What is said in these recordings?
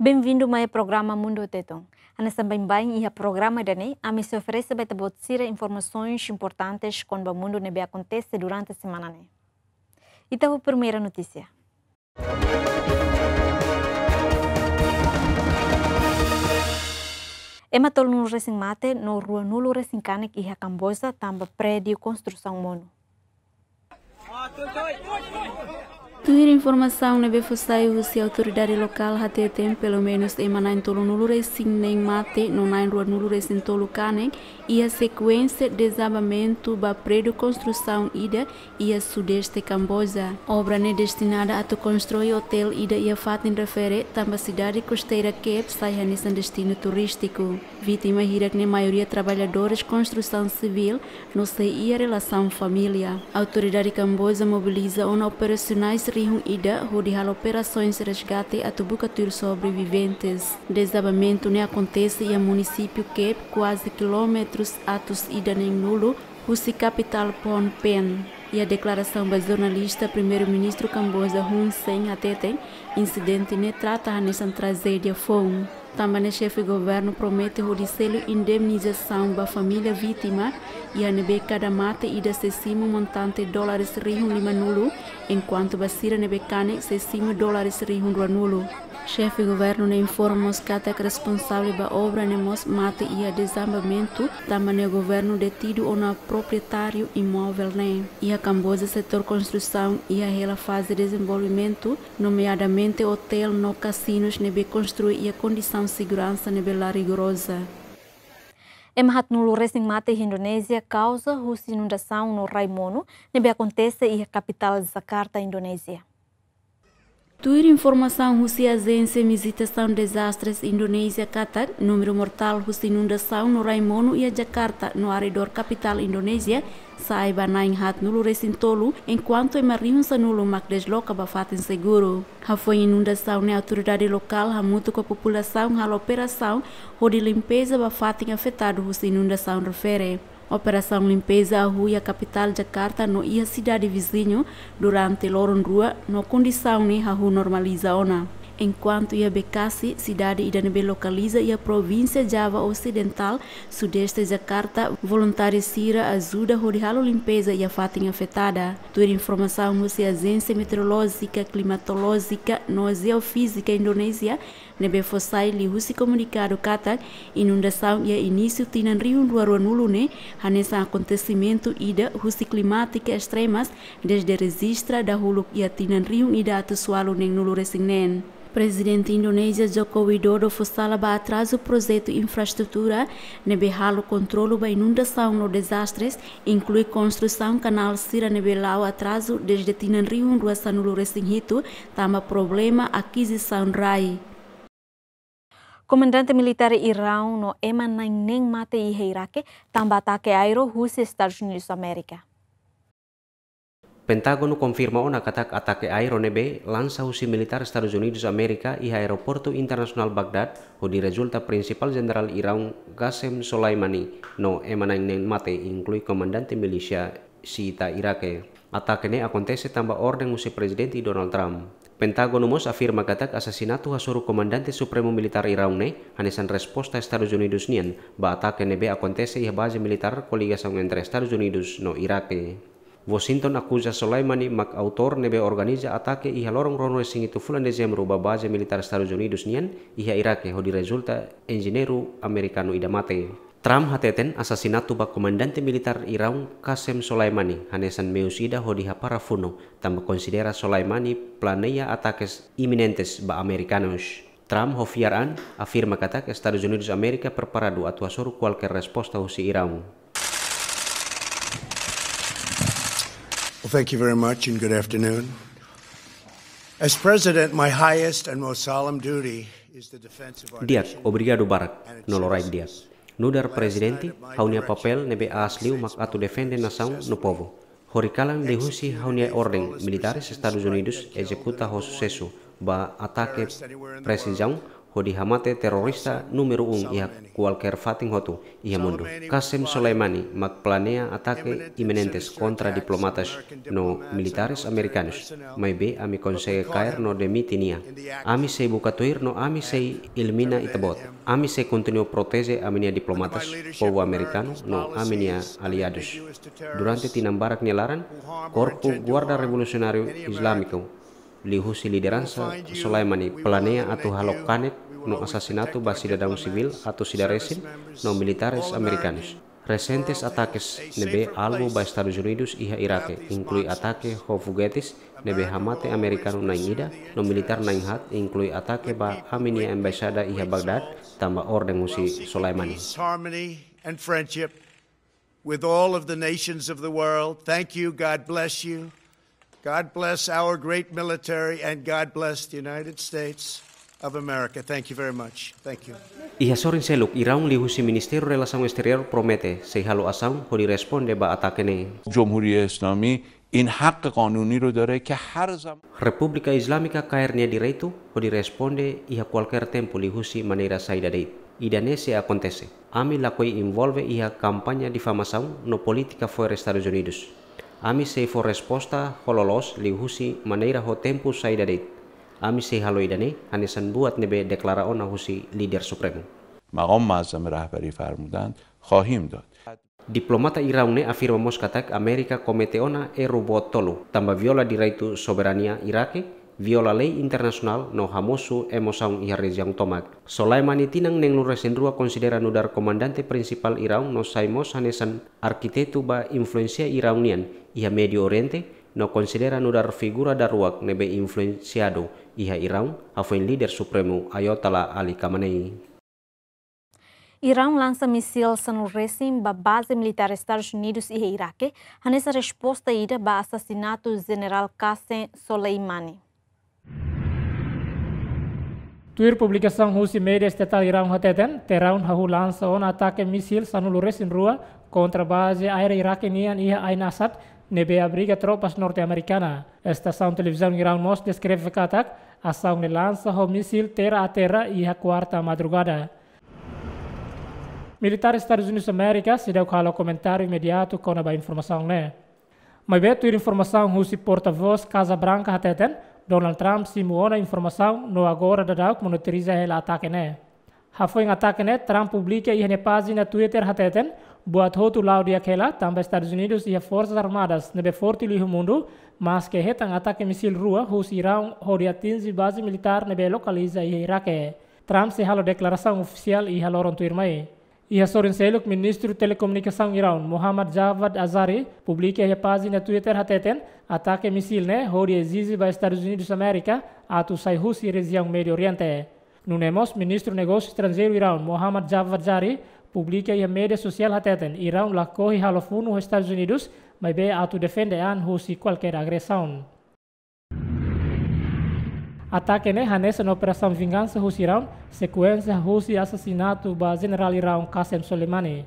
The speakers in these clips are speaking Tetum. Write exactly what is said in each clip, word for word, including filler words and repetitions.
Bem-vindo mai programa Mundu Tetun. Hanesan baibain iha programa ida-ne'e, ami sei oferese ba ita-boot sira informasaun importante kona-ba mundu ne'ebé akontese durante semana ne'e. Ita ho primeira notísia. Ema tolunulu resin mate no ruanulu resin kanek iha Kamboja tanba prédiu konstrusaun monu. Tuir informasaun ne'ebé fó sai husi autoridade lokál hateten, pelumenus ema na'in tolunulu resin neen mate no na'in ruanulu resin tolu kanek iha sekuénsia dezabamentu ba prédiu konstrusaun ida iha sudeste Kamboja. Obra ne'e destinada atu konstrui otél ida iha fatin refere tanba sidade kosteira Kep sai hanesan destinu turístiku. Vítima hirak ne'e maioria traballadores konstrusaun sivíl no sei iha relasaun família. Autoridade Kamboja mobiliza ona operasionais rihun ida hodi halo operasoens resgate atu buka tuir sobreviventes. Dezabamentu ne'e akontese iha munisípiu Kep, kuaze kilómetrus atus ida neenulu husi kapitál Phnom Penh. Iha deklarasaun ba jornalista, Primeiru-Ministru Kamboja Hun Sen hateten, insidente ne'e trata hanesan trajédia foun. Tanba ne'e xefe governu promete hodi selu indemnizasaun ba família vítima, iha ne'ebé kada mate ida sei simu montante dólares rihun limanulu, enkuantu ba sira ne'ebé kanek sei simu dólares rihun ruanulu. Xefe governu ne'e informa mós katak responsavel ba obra ne'e mós mate iha dezabamentu, tanba ne'e governu detidu ona proprietáriu imóvel ne'e. Iha Kamboja setór konstrusaun iha hela faze dezenvolvimentu, nomeadamente otél no kasinus ne'ebé konstrui iha kondisaun seguransa ne'ebé la rigoroza. Ema haatnulu resin mate iha Indonézia kauza husi inundasaun no rai monu ne'ebé akontese iha kapitál Jakarta, Indonézia. Tuir informasaun husi Ajénsia Mizitasaun Dezastres Indonézia katak, númeru mortál husi inundasaun no rai monu iha Jakarta no arredór kapitál Indonézia sa'e ba na'in haatnulu resin tolu, enkuantu ema rihun sanulu mak desloka ba fatin seguru. Hafoin inundasaun ne'e, autoridade lokál hamutuk ho populasaun halo operasaun hodi limpeza ba fatin afetadu husi inundasaun refere. Operasaun limpeza hahú iha kapitál Jakarta no iha sidade viziñu durante loron rua no kondisaun ne'e hahú normaliza ona. Enkuantu iha Bekasi, sidade ida ne'ebé lokaliza iha provínsia Java Osidentál, sudeste Jakarta, voluntáriu sira ajuda hodi halo limpeza iha fatin afetada. Tuir informasaun husi Ajénsia Meteorolójika, Klimatolójika no Jeofízika Indonézia, ne'ebé fó sai liuhusi komunikadu katak, inundasaun iha inísiu tinan rihun rua ruanulu ne'e hanesan akontesimentu ida husi klimátika estremas dezde rejista dahuluk iha tinan rihun ida atus ualu neenulu resin neen. Prezidente Indonézia Joko Widodo fó sala ba atrazu projetu infraestrutura ne'ebé halo kontrolu ba inundasaun no dezastres, inklui konstrusaun kanál sira ne'ebé la'o atrazu dezde tinan rihun rua sanulu resin hitu, tanba problema akizisaun rai. Komandante militár Iraun no ema na'in neen mate iha Iraque tanba atake aéreu husi Estadus Unidus Amérika. Pentágonu konfirma ona katak atake aéreu ne'ebé lansa husi militár Estadus Unidus Amérika iha Aeroportu Internasionál Bagdad hodi rezulta prinsipál jenerál Iraun Qasem Soleimani no ema na'in neen mate, inklui komandante milísia xiita Iraque. Atake ne'e akontese tanba orden husi Prezidente Donald Trump. Pentágonu mós afirma katak asasinatu hasoru komandante supremu militár Iraun ne'e hanesan resposta Estadus Unidus nian ba atake ne'ebé akontese iha baze militár koligasaun entre Estadus Unidus no Iraque. Washington akuza Soleimani mak autór ne'ebé organiza atake iha loron ruanulu resin hitu fulan Dezembru ba baze militár Estadus Unidus nian iha Iraque, hodi rezulta enjeñeiru amerikanu ida mate. Trump hateten asasinatu ba komandante militár Iraun Qasem Soleimani hanesan meius ida hodi hapara funu, tanba konsidera Soleimani planeia atakes iminentes ba amerikanus. Trump ho fiar an afirma katak Estadus Unidus Amérika preparadu atu hasoru kualkér resposta husi Iraun. Well, thank you very much and good afternoon. As President, my highest and most solemn duty is the defense of our Di'ak, nation. Obrigadu barak, no loraik di'ak. Nu'udar Prezidente, ha'u-nia papél ne'ebé aas liu mak atu defende nasaun no povu. Horikalan liuhusi ha'u-nia orden, militáres Estadus Unidus ezekuta ho susesu ba atake presizaun hodi hamate terrorista númeru um iha kualkér fatin hotu iha mundu. Qasem Soleimani mak planeia atake iminentes kontra diplomatas no militares amerikanus. Maibé ami konsege kaer no demite nia. Ami sei buka tuir no ami sei elimina ita-boot. Ami sei kontinua proteje ami-nia diplomatas, povu amerikanu no ami-nia aliadus. Durante tinan barak nia laran, Korpu Guarda Revolusionáriu Izlámiku, liuhusi lideransa Soleimani, planeia atu halo kanek no asasinatu ba sidadaun sivíl atus ida resin no militares amerikanus. Resentes atakes ne'ebé alvu ba Estadus Unidus iha Iraque, inklui atake ho fogetes ne'ebé hamate amerikanu na'in ida no militár na'in haat, inklui atake ba ami-nia embaixada iha Bagdad, tanba orden husi Soleimani. Peace, harmony, and friendship with all of the nations of the world. Thank you. God bless you. God bless our great military, and God bless the United States of America. Thank you very much. Thank you. Iha sorin seluk, Iraun liuhusi Ministériu Relasaun Esteriór promete sei halo asaun hodi responde ba atake ne'e. جمهوری اسلامی این حق قانونی رو داره که هر زمان Repúblika Izlámika kaer nia direitu hodi responde iha kualkér tempu liuhusi maneira saida de'it. Ida-ne'e sei akontese. Ami lakohi envolve iha kampaña difamasaun no polítika fo'er Estadus Unidus. Ami sei fó resposta ho loloos liuhusi maneira ho tempu saida de'it. Ami sei halo ida-ne'e hanesan buat ne'ebé deklara ona husi Líder Supremu. مقام معظم رهبری فرمودند، خواهیم داد. Diplomata Iraun ne'e afirma mós katak Amérika komete ona erru boot tolu, tanba viola direitu soberania Iraque, viola lei internasionál no hamosu emosaun iha rejiaun tomak. Soleimani, tinan neenulu resin rua, konsidera nu'udar komandante prinsipál Iraun no sai mós hanesan arkitetu ba influénsia Iraun nian iha Médiu Oriente, no konsidera nu'udar figura daruak ne'ebé influensiadu iha Iraun, hafoin Líder Supremu Ayatollah Ali Khamenei. Iraun lansa misil sanulu resin ba baze militár Estadus Unidus iha Iraque, hanesan resposta ida ba asasinatu Jenerál Qasem Soleimani. Tuir publikasaun husi média estatál Iraun hateten, Tehran hahú lansa ona atake misil sanulu resin rua kontra baze aérea Iraque nian iha Ain Assad, ne'ebé abriga tropas norte-amerikana. Estasaun televizaun Iraun mós deskreve katak, asaun ne'e lansa ho misil terra a terra iha kuarta madrugada. Militár Estadus Unidus Amérika seidauk halo komentáriu imediatu kona-ba informasaun ne'e. Maibé tuir informasaun husi portavós Casa Branca hateten, Donald Trump simu ona informasaun no agora daudauk monitoriza hela atake ne'e. Hafoin atake ne'e, Trump publika iha nia pájina Twitter hateten, buat hotu la'o di'ak hela, tanba Estadus Unidus iha forsas armadas ne'ebé forte liu iha mundu, maske hetan atake misil rua husi Iraun hodi atinje baze militár ne'ebé lokaliza iha Iraque. Trump sei halo deklarasaun ofisiál iha loron tuirmai. Iha sorin seluk, Ministru Telekomunikasaun Iraun, Mohammad Javad Azari, publika iha pájina Twitter hateten, atake misil ne'e hodi ezije ba Estadus Unidus Amérika atu sai husi rejiaun Médiu Oriente. Nune'e mós, Ministru Negósiu Estranjeiru Iraun, Mohammad Javad Zarif, publika iha média sosiál hateten, Iraun lakohi halo funu ho Estadus Unidus, maibé atu defende an husi kualkér agresaun. Atake ne'e hanesan operasaun vingansa husi Iraun, sekuénsia husi asasinatu ba Jenerál Iraun Qasem Soleimani.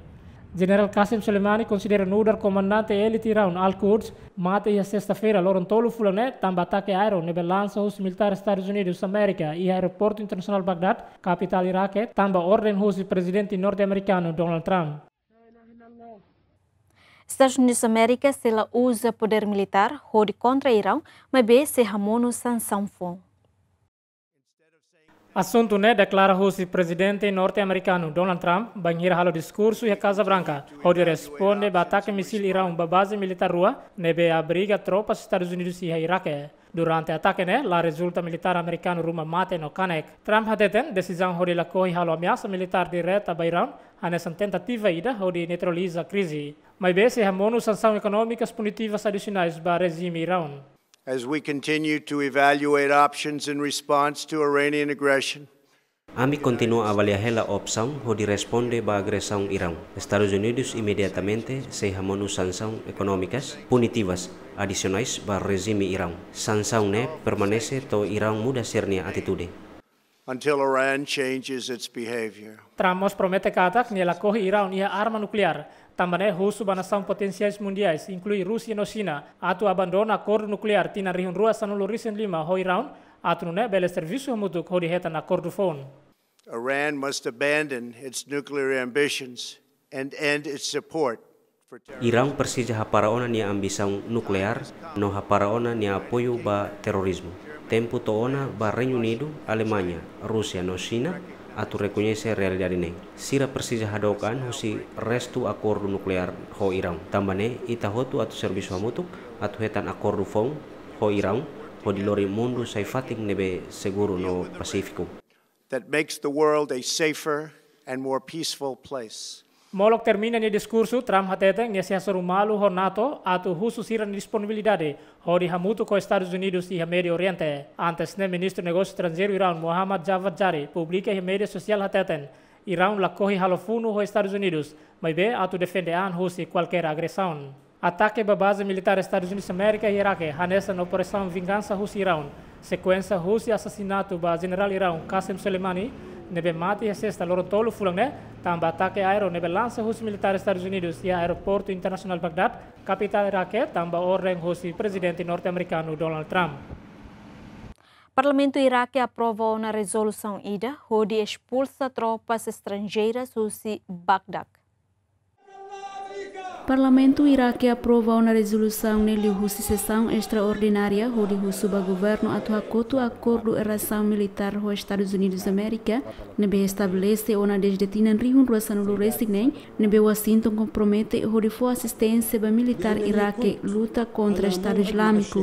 Jenerál Qasem Soleimani konsidera nu'udar komandante élite Iraun Al-Quds mate iha sesta-feira, loron tolu fulan ne'e, tanba atake aéreu ne'ebé lansa husi militár Estadus Unidus Amérika iha Aeroportu Internasionál Bagdad, kapitál Iraque, tanba orden husi Prezidente norte-amerikanu Donald Trump. Estadus Unidus Amérika sei la uza podér militár hodi kontra Iraun, maibé sei hamonu sansaun foun. Asuntu ne'e deklara husi Prezidente norte-amerikanu Donald Trump bainhira halo diskursu iha Casa Branca, hodi responde ba atake misil Iraun ba baze militár rua ne'ebé abriga tropas Estadus Unidus iha Iraque. Durante atake ne'e, la rezulta militár amerikanu ruma mate no kanek. Trump hateten, desizaun hodi lakohi halo ameasa militár direta ba Iraun hanesan tentativa ida hodi neutraliza krize. Maibé sei hamonu sansaun ekonómikas punitivas adisionais ba rejime Iraun. As we continue to evaluate options in response to Iranian aggression, Ami kontinua avalia hela opsaun hodi responde ba agresaun Iraun. Estadus Unidus imediatamente sei hamonu sansaun ekonómikas punitivas adisionais ba rejime Iraun. Sansaun ne'e permanese to'o Iraun muda sira-nia atitude. Until Iran changes its behavior. Trump mós promete katak nia lakohi Iraun iha arma nukleár, tanba ne'e husu ba nasaun potensiais mundiais, inklui Rúsia no Xina, atu abandona akordu nukleár tinan rihun rua sanulu resin lima ho Iraun, atu nune'e bele servisu hamutuk hodi hetan akordu foun. Iran must abandon its nuclear ambitions and end its support for terror. Iraun presiza hapara ona nia ambisaun nukleár no hapara ona nia apoiu ba terorizmu. Tempu to'o ona ba Reinu Unidu, Alemaña, Rúsia no Xina atu rekoñese realidade ne'e. Sira presiza hadook an husi restu akordu nukleár ho Iraun. Tanba ne'e, ita hotu atu servisu hamutuk atu hetan akordu foun ho Iraun, hodi lori mundu sai fatin ne'ebé seguru no pasífiku. That makes the world a safer and more peaceful place. Molok termina nia diskursu, Trump hateten nia sei hasoru malu ho NATO atu husu sira-nia disponibilidade hodi hamutuk ho Estadus Unidus iha Médiu Oriente. Antes ne'e, Ministru Negósiu Estranjeiru Iraun, Mohammad Javad Zarif, publika iha média sosiál hateten Iraun lakohi halo funu ho Estadus Unidus, maibé atu defende an husi kualkér agresaun. Atake ba baze militár Estadus Unidus Amérika iha Irake, hanesan operasaun vingansa husi Iraun, sekuénsia husi asasinatu ba jenerál Iraun Qasem Soleimani, ne'ebé mate iha Sesta, loron tolu fulan ne'e, tanba atake aéreu ne'ebé lansa husi militár Estadus Unidus iha Aeroportu Internasionál Bagdad, kapitál Irake, tanba orden husi Prezidente norte-amerikanu Donald Trump. Parlamentu Irake aprova ona rezolusaun ida hodi espulsa tropas estranjeiras husi Bagdad. Parlamentu Irake aprova ona rezolusaun ne'e liuhusi sesaun estraordinária hodi husu ba governu atu hakotu akordu relasaun militár ho Estadus Unidus Amérika, ne'ebé estabelese ona dezde tinan rihun rua sanulu resin neen, ne'ebé Washington kompromete hodi fó asisténsia ba militár Irake luta kontra Estadu Izlámiku.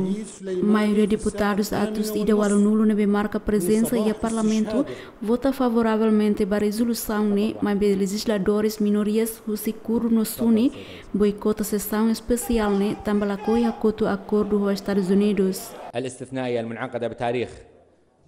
Maioria deputadus atus ida ualunulu ne'ebé marka prezensa iha parlamentu vota favoravelmente ba rezolusaun ne'e, maibé lejizladores minorias husi Kurdu no Suni boikota sesaun espesiál ne'e, tanba lakohi hakotu akordu ho Estadus Unidus. الاستثنائية المنعقدة بتاريخ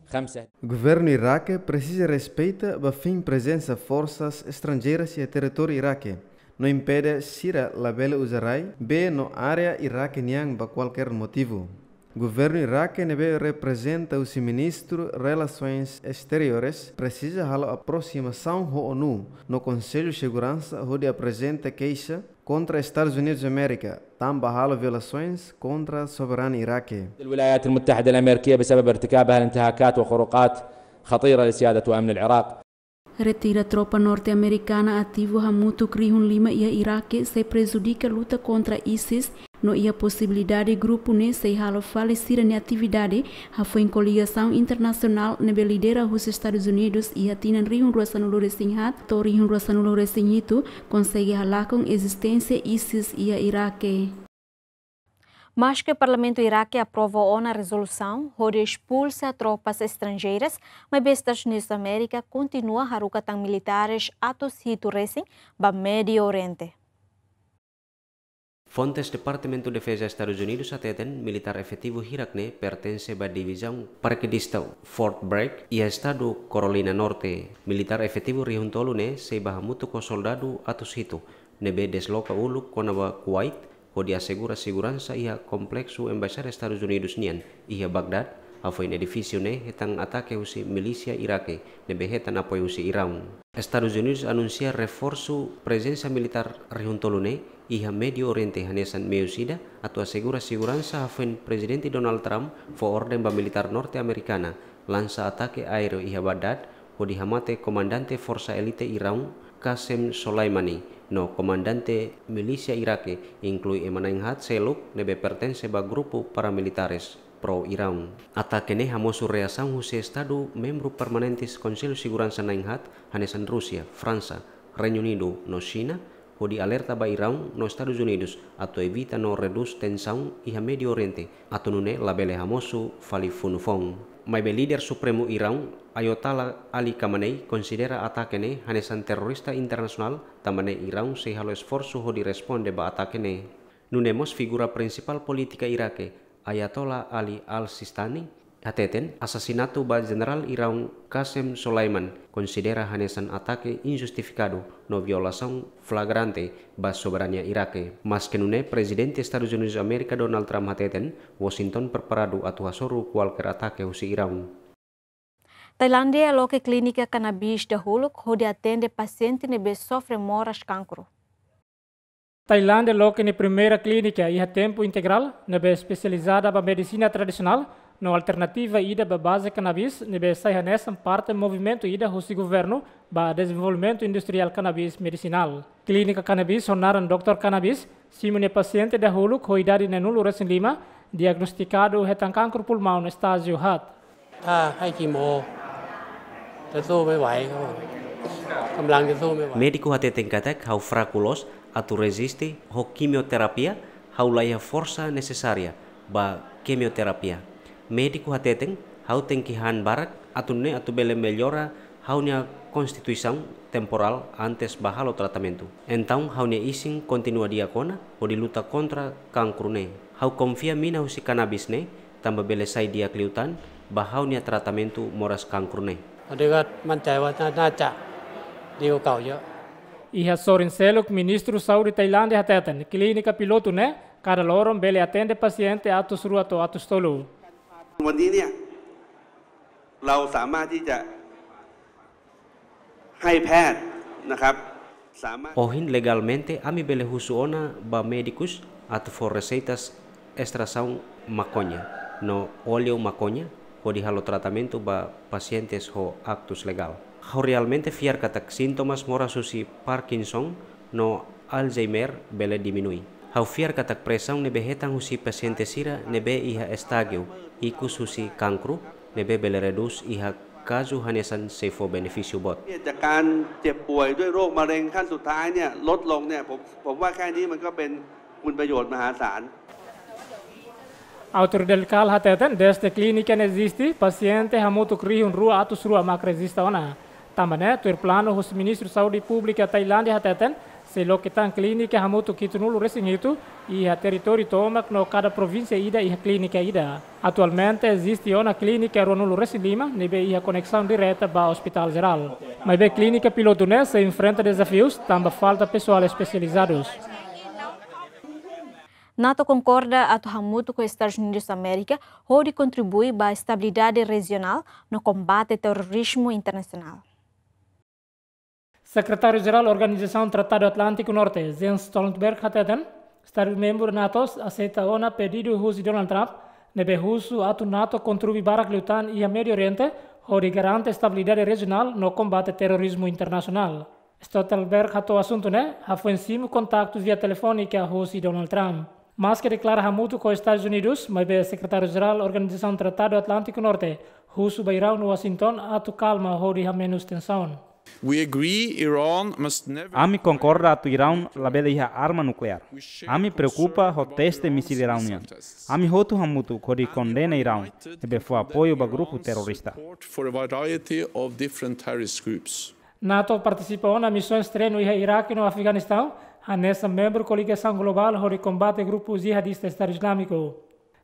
خمسة. Governu Irake presiza respeita ba fin prezensa forsas estranjeiras iha territóriu Irake, no impede sira labele uza rai, bee no área Irake nian ba kualkér motivu. Governu Irake ne'ebé reprezenta husi Ministru Relasoens Exteriores presiza halo aprosimasaun ho ONU no Konsellu Seguransa hodi aprezenta keixa kontra Estadus Unidus Amérika, tanba halo violasoens kontra soberania Irake. الولايات المتحدة الأمريكية بسبب ارتكابها الانتهاكات وخروقات خطيرة لسيادة وأمن العراق. Retira tropa norte-amerikana ativu hamutuk rihun lima iha Irake sei prejudika luta kontra ISIS, no iha posibilidade grupu ne'e sei halo fali sira-nia atividade, hafoin koligasaun internasionál ne'ebé lidera husi Estadus Unidus iha tinan rihun rua sanulu resin haat to'o rihun rua sanulu resin hitu konsege halakon ezisténsia ISIS iha Irake. Maske Parlamentu Irake aprova ona rezolusaun hodi espulsa tropas estranjeiras, maibé Estadus Unidus Amérika kontinua haruka tan militares atus hitu resin ba Médiu Oriente. Fontes Departamentu Defeza Estadus Unidus hateten militár efetivu hirak ne'e pertense ba divizaun parakedista Fort Bragg iha estadu Carolina Norte. Militár efetivu rihun tolu ne'e sei bá hamutuk ho soldadu atus hitu ne'ebé desloka uluk kona-ba Kuwait, hodi asegura seguransa iha kompleksu embaixada Estadus Unidus nian iha Bagdad, hafoin edifísiu ne'e hetan atake husi milísia Irake ne'ebé hetan apoiu husi Iraun. Estadus Unidus anunsia reforsu prezensa militár rihun tolu ne'e iha Médiu Oriente hanesan meius ida atu asegura seguransa, hafoin Prezidente Donald Trump fó orden ba militár norte-amerikana lansa atake aéreu iha Bagdad, hodi hamate komandante forsa elite Iraun, Qasem Soleimani, no komandante milísia Irake, inklui ema na'in-haat seluk ne'ebé pertense ba grupu paramilitares pro-Iraun. Atake ne'e hamosu reasaun husi estadu membru permanentes Konsellu Seguransa na'in-haat, hanesan Rúsia, Fransa, Reinu Unidu no Xina, hodi alerta ba Iraun no Estadus Unidus atu evita no redús tensaun iha Médiu Oriente, atu nune'e labele hamosu fali funu foun. Maibé líder supremu Iraun, Ayatollah Ali Khamenei, konsidera atake ne'e hanesan terrorista internasionál, tanba ne'e Iraun sei halo esforsu hodi responde ba atake ne'e. Nune'e mós figura prinsipál polítika Irake, Ayatollah Ali Al-Sistani, hateten asasinatu ba jenerál Iraun Qasem Soleimani konsidera hanesan atake injustifikadu no violasaun flagrante ba soberania Irake. Maske nune'e, Prezidente Estadus Unidus Amérika Donald Trump hateten Washington preparadu atu hasoru kualkér atake husi Iraun. Tailándia loke klínika kanabis dahuluk hodi atende pasiente ne'ebé sofre moras kankru. Tailándia loke nia primeira klínika iha tempu integrál ne'ebé espesializada ba medisina tradisionál, No alternativa ida ba baze kanabis ne'ebé sai hanesan parte movimentu ida husi governu ba dezenvolvimentu industriál kanabis medisinál. Klínika kanabis ho naran doutór Kanabis simu nia pasiente dahuluk ho idade neenulu resin lima, diagnostikadu hetan kankru pulmaun estájiu haat. ถ้าให้คีโม จะสู้ไม่ไหว เขาบอก กำลังจะสู้ไม่ไหว Médiku hateten katak ha'u fraku loos atu reziste ho kimioterapia, ha'u la iha forsa nesesária ba kimioterapia. Médiku hateten ha'u tenke han barak atu nune'e atu bele mellora ha'u-nia konstituisaun temporál antes ba halo tratamentu. Entaun ha'u-nia isin kontinua di'ak ona hodi luta kontra kankru ne'e. Ha'u konfia mina husi kanabis ne'e tanba bele sai di'ak liután ba ha'u-nia tratamentu moras kankru ne'e. ตอนนี้ก็มั่นใจว่าน่า น่าจะดีกว่าเก่าเยอะ Iha sorin seluk, Ministru Saúde Tailándia hateten klínika pilotu ne'e kada loron bele atende pasiente atus rua to'o atus tolu. Ohin legalmente ami bele husu ona ba médikus atu fó reseitas estrasaun makoña no óleu makoña hodi halo tratamentu ba pasientes ho aktus legál. Ha'u realmente fiar katak sintomas moras husi Parkinson no Alzheimer bele diminui. Ha'u fiar katak presaun ne'ebé hetan husi pasiente sira ne'ebé iha estájiu ikus husi kankru ne'ebé bele redús iha kazu hanesan sei fó benefísiu boot. จากการเจ็บป่วยด้วยโรคมะเร็งขั้นสุดท้ายเนี่ยลดลงเนี่ย ผม ผมว่าแค่นี้มันก็เป็นคุณประโยชน์มหาศาล Autoridade lokál hateten, dezde klínika ne'e eziste, pasiente hamutuk rihun rua atus rua mak rejista ona. Tanba ne'e, tuir planu husi Ministru Saúde Públika Tailándia hateten, sei loke tan klínika hamutuk hitunulu resin hitu iha territóriu tomak no kada provínsia ida iha klínika ida. Atualmente eziste ona klínika ruanulu resin lima ne'ebé iha koneksaun direta ba Ospitál Jerál. Maibé klínika pilotu ne'e sei enfrenta dezafius tanba falta pesoál espesializadus. NATO konkorda atu hamutuk ho Estadus Unidus Amérika hodi kontribui ba estabilidade rejionál no kombate terrorizmu internasionál. Sekretáriu Jerál Organizasaun Tratadu Atlántiku Norte, Jens Stoltenberg hateten, Estadu membru NATO aseita ona pedidu husi Donald Trump ne'ebé husu atu NATO kontribui barak liután iha Médiu Oriente hodi garante estabilidade rejionál no kombate terrorizmu internasionál. Stoltenberg hato'o asuntu ne'e hafoin simu kontaktu via telefónika husi Donald Trump. Maske deklara hamutuk ho Estadus Unidus, maibé Sekretáriu Jerál Organizasaun Tratadu Atlántiku Norte husu ba Iraun no Washington atu kalma hodi hamenus tensaun. We agree Iran must never Ami konkorda atu Iraun labele iha arma nukleár. Ami preokupa ho teste mísil Iraun nian. Ami hotu hamutuk hodi kondena Iraun ne'ebé fó apoiu ba grupu terrorista. Support for a variety of different terrorist groups. NATO partisipa ona misaun treinu iha Iraque no Afeganistaun, hanesan membru koligasaun globál hodi kombate grupu jihadista Estadu Islámiku.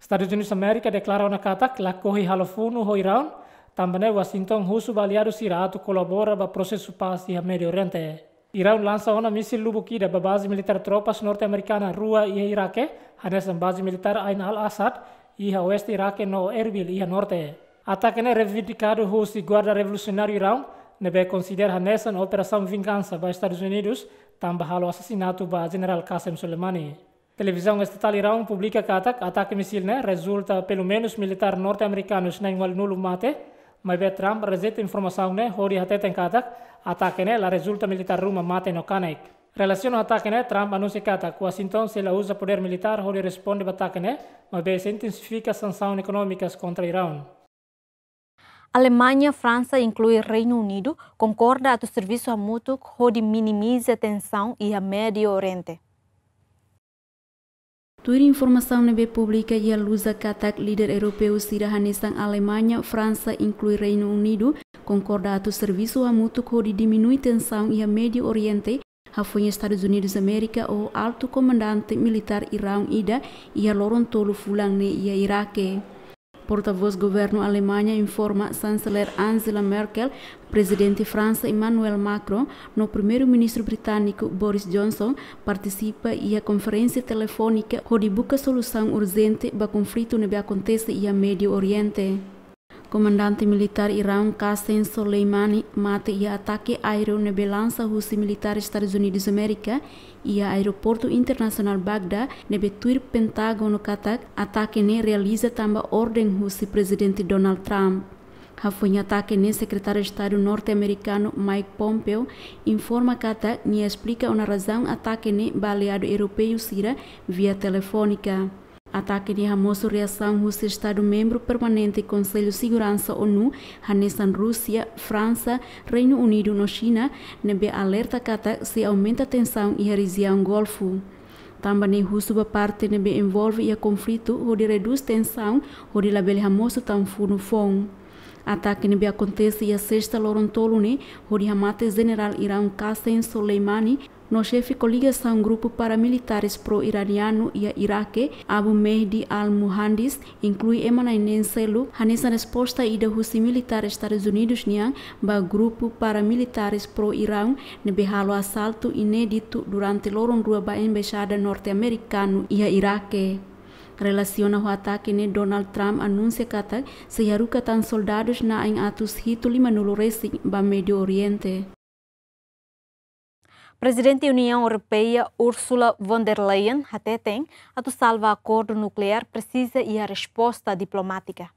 Estadus Unidus Amérika deklara ona katak lakohi halo funu ho Iraun, tanba ne'e Washington husu ba aliadu sira atu kolabora ba prosesu pás iha Médiu Oriente. Iraun lansa ona mísil lubuk ida ba baze militár tropas norte-amerikana rua iha Iraque, hanesan baze militár Ain al-Asad iha oeste Iraque no Erbil iha norte. Atake ne'e reivindikadu husi Guarda Revolusionáriu Iraun, ne'ebé konsidera hanesan operasaun vingansa ba Estadus Unidus, tanba halo asasinatu ba Jenerál Qasem Soleimani. Televizaun estatál Iraun publika katak atake mísil ne'e rezulta pelumenus militár norte-amerikanus na'in-ualunulu mate, maibé Trump rejeita informasaun ne'e hodi hateten katak atake ne'e la rezulta militár ruma mate no kanek. Relasiona ho atake ne'e, Trump anunsia katak Washington sei la uza podér militár hodi responde ba atake ne'e, maibé sei intensifika sansaun ekonómikas kontra Iraun. Alemaña, Fransa, inklui Reinu Unidu, konkorda atu servisu hamutuk hodi minimiza tensaun iha Médiu Oriente. Tuir informasaun ne'ebé publika iha Lusa katak líder europeu sira hanesan Alemaña, Fransa, inklui Reinu Unidu, konkorda atu servisu hamutuk hodi diminui tensaun iha Médiu Oriente, hafoin Estadus Unidus Amérika ho altu komandante militár Iraun ida iha loron tolu fulan ne'e iha Iraque. Portavós governu Alemaña informa Chanceler Angela Merkel, Prezidente Fransa Emmanuel Macron, no Primeiru-Ministru Britániku Boris Johnson partisipa iha konferénsia telefónika hodi buka solusaun urjente ba konflitu ne'ebé akontese iha Médiu Oriente. Komandante militár Iraun Qasem Soleimani mate iha atake aéreu ne'ebé lansa husi militár Estadus Unidus Amérika iha aeroportu internasionál Bagdá, ne'ebé tuir Pentágonu katak atake ne'e realiza tanba orden husi Prezidente Donald Trump. Hafoin atake ne'e, Sekretáriu Estadu norte-amerikanu Mike Pompeo informa katak nia esplika ona razaun atake ne'e ba aliadu europeu sira via telefónika. Atake ne'e hamosu reasaun husi Estadu membru permanente Konsellu Seguransa ONU, hanesan Rúsia, Fransa, Reinu Unidu no Xina, ne'ebé alerta katak sei aumenta tensaun iha rejiaun Golfu. Tanba ne'e husu ba parte ne'ebé envolve iha konflitu hodi redús tensaun, hodi labele hamosu tan funu foun. Atake ne'ebé akontese iha Sesta loron tolu ne'e, hodi hamate Jenerál Iraun Qasem Soleimani no xefe koligasaun grupu paramilitares pro-iranianu iha Iraque, Abu Mehdi al-Muhandis, inklui ema na'in neen seluk, hanesan resposta ida husi militár Estadus Unidus nian ba grupu paramilitares pro-Iraun ne'ebé halo asaltu inéditu durante loron rua ba embaixada norte-amerikanu iha Iraque. Relasiona ho atake ne'e, Donald Trump anunsia katak sei haruka tan soldadus na'in atus hitu lima-nulu resin ba Médio Oriente. Prezidente Uniaun Europeia Ursula von der Leyen hateten atu salva akordu nukleár presiza iha resposta diplomátika.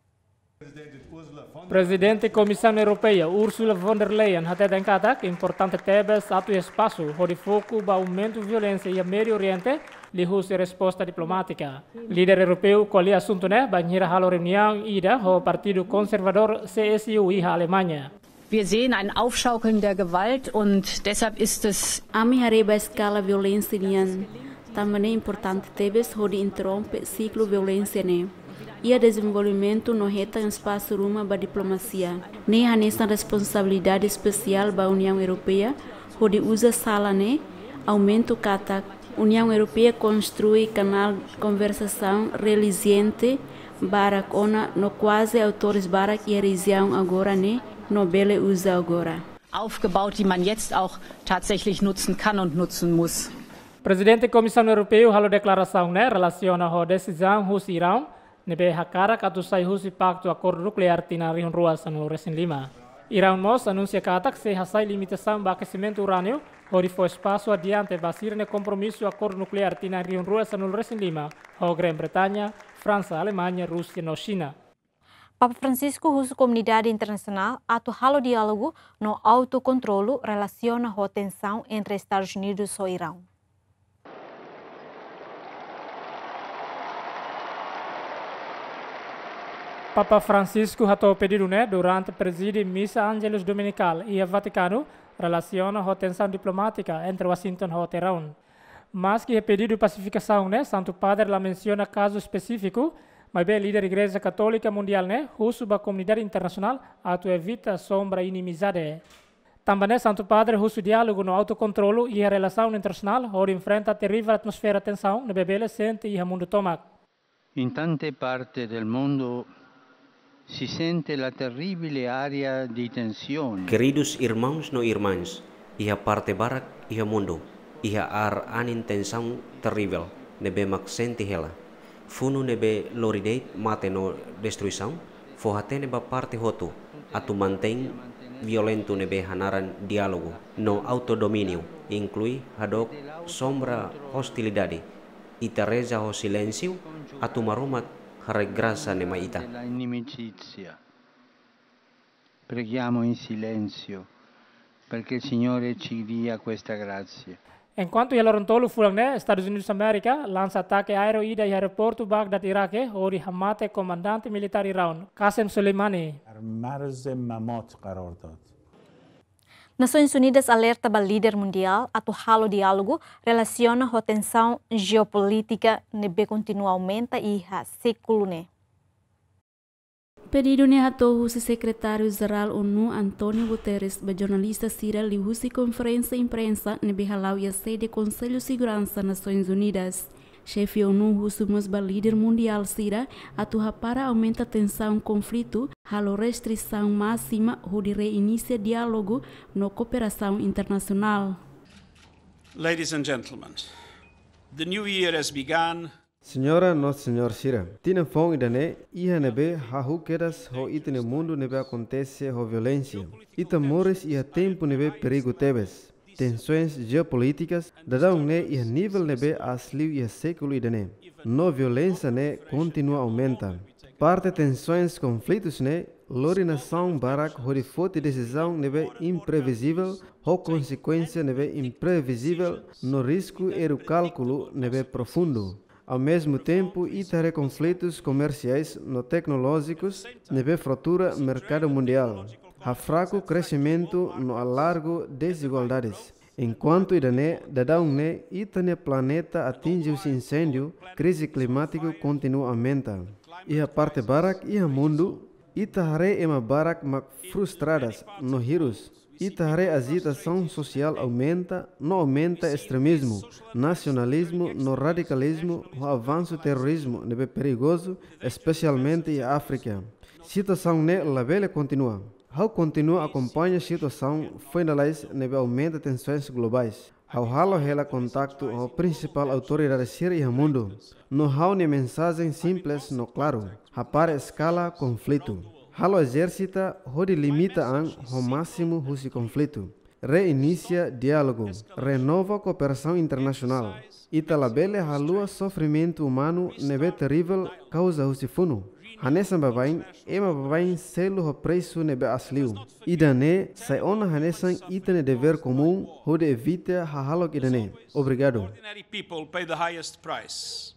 Prezidente Komisaun Europeia Ursula von der Leyen hateten katak importante tebes atu espasu hodi foku ba aumentu violénsia iha Médio Oriente liuhusi resposta diplomátika. Líder europeu ko'alia asuntu ne'e bainhira halo reuniaun ida ho Partidu Konservadór C S U iha Alemaña. Wir sehen ein Aufschaukeln der Gewalt und deshalb ist es Ami haree ba eskala violénsia nian. Tanba ne'e importante tebes hodi interrompe siklu violénsia ne'e, iha dezenvolvimentu no hetan espasu ruma ba diplomasia. Ne'e hanesan responsabilidade espesiál ba Uniaun Europeia hodi uza sala ne'e, aumenta katak Uniaun Europeia konstrui kanál konversasaun reziliente barak ona no kuaze autores barak iha rejiaun agora ne'e no bele uza agora. Aufgebaut, die man jetzt auch tatsächlich nutzen kann und nutzen muss. Prezidente Komisaun Europeia halo deklarasaun ne'e relasiona ho desizaun husi Iraun ne'ebé hakarak atu sai husi paktu akordu nukleár tinan rihun rua sanulu resin lima. Iraun mós anunsia katak sei hasai limitasaun ba akesimentu urániu hodi fó espasu adiante ba sira-nia kompromisu akordu nukleár tinan rihun rua sanulu resin lima ho Grã-Bretaña, Fransa, Alemaña, Rúsia no Xina. Papa Francisco husu komunidade internasionál atu halo diálogu no autokontrolu relasiona ho tensaun entre Estadus Unidus ho Iraun. Papa Francisco hato'o pedidu ne'e durante prezide misa Angelus Dominicale iha Vatikanu, relasiona ho tensaun diplomátika entre Washington ho Teherão. Maski iha pedidu pasifikasaun ne'e, Santu Padre la mensiona kazu espesífiku, maibé líder Igreja Katólika Mundiál ne'e husu ba komunidade internasionál atu evita sombra inimizade. Tanba ne'e, Santu Padre husu diálogu no autokontrolu iha relasaun internasionál hodi enfrenta terivel atmosfera tensaun ne'ebé bele sente iha mundu tomak. In tante parte del mondo si sente la terribile aria di tensione. Keridus irmauns no irmãs, iha parte barak iha mundu, iha ar-anin tensaun terivel ne'ebé mak sente hela. Funu ne'ebé lori de'it mate no destruisaun, fó-hatene ba parte hotu atu mantein violentu ne'ebé hanaran diálogu no autodomíniu, inklui hadook sombra ostilidade. Ita reza ho silénsiu atu Maromak haraik grasa ne'e mai ita. Della inimicizia. Preghiamo in silenzio perché il Signore ci dia questa grazia. Enkuantu iha loron tolu fulan ne'e, Estadus Unidus Amérika lansa atake aéreu ida iha aeroportu Bagdad, Iraque, hodi hamate komandante militár Iraun, Qasem Soleimani. در مرز ممات قرار داد. Nasoins Unidas alerta ba líder mundiál atu halo diálogu relasiona ho tensaun jeopolítika ne'ebé kontinua aumenta iha sékulu ne'e. Pedidu ne'e hato'o husi Sekretáriu Jerál ONU António Guterres ba jornalista sira liuhusi konferénsia imprensa ne'ebé hala'o iha sede Konsellu Seguransa Nasoins Unidas. Xefe ONU husu mós ba líder mundiál sira atu hapara aumenta tensaun konflitu, halo restrisaun másima hodi reinisia diálogu no kooperasaun internasionál. Ladies and gentlemen, the new year has begun. Señora no señór sira, tinan foun ida-ne'e iha ne'ebé hahú kedas ho ita-nia mundu ne'ebé akontese ho violénsia. Ita moris iha tempu ne'ebé perigu tebes. Tensoens jeopolítikas daudaun ne'e iha nivel ne'ebé aas liu iha sékulu ida-ne'e. No violénsia ne'e kontinua aumenta. Parte tensoens konflitus ne'e lori nasaun barak hodi foti desizaun ne'ebé imprevizivel, ho konsekuénsia ne'ebé imprevizivel, no risku erru kálkulu ne'ebé profundu. Ao mesmo tempo, ita haree konflitus komersiais no teknolójikus ne'ebé fratura merkadu mundiál, hafraku kresimentu no alargu dezigualdades. Enkuantu ida-ne'e, daudaun ne'e ita-nia planeta atinje husi inséndiu, krize klimátiku kontinua aumenta. Iha parte barak iha mundu, ita haree ema barak mak frustradas no hirus. Ita haree ajitasaun sosiál aumenta, no aumenta estremismu, nasionalizmu no radikalizmu, ho avansu terrorizmu ne'ebé perigozu, espesialmente iha Áfrika. Situasaun ne'e labele kontinua. Ha'u kontinua akompaña situasaun foin lalais ne'ebé aumenta tensoens globais. Ha'u halo hela kontaktu ho prinsipál autoridade sira iha mundu. No ha'u-nia mensajen simples no klaru: hapara eskala konflitu. Halo ezersita hodi limita an ho másimu husi konflitu. Reinisia diálogu. Renova kooperasaun internasionál. Ita labele haluha sofrimentu umanu ne'ebé terivel kauza husi funu. Hanesan baibain, ema baibain selu ho presu ne'ebé aas liu. Ida-ne'e sai ona hanesan ita-nia devér komún hodi evita hahalok ida-ne'e. Obrigadu. Ordinary people pay the highest price.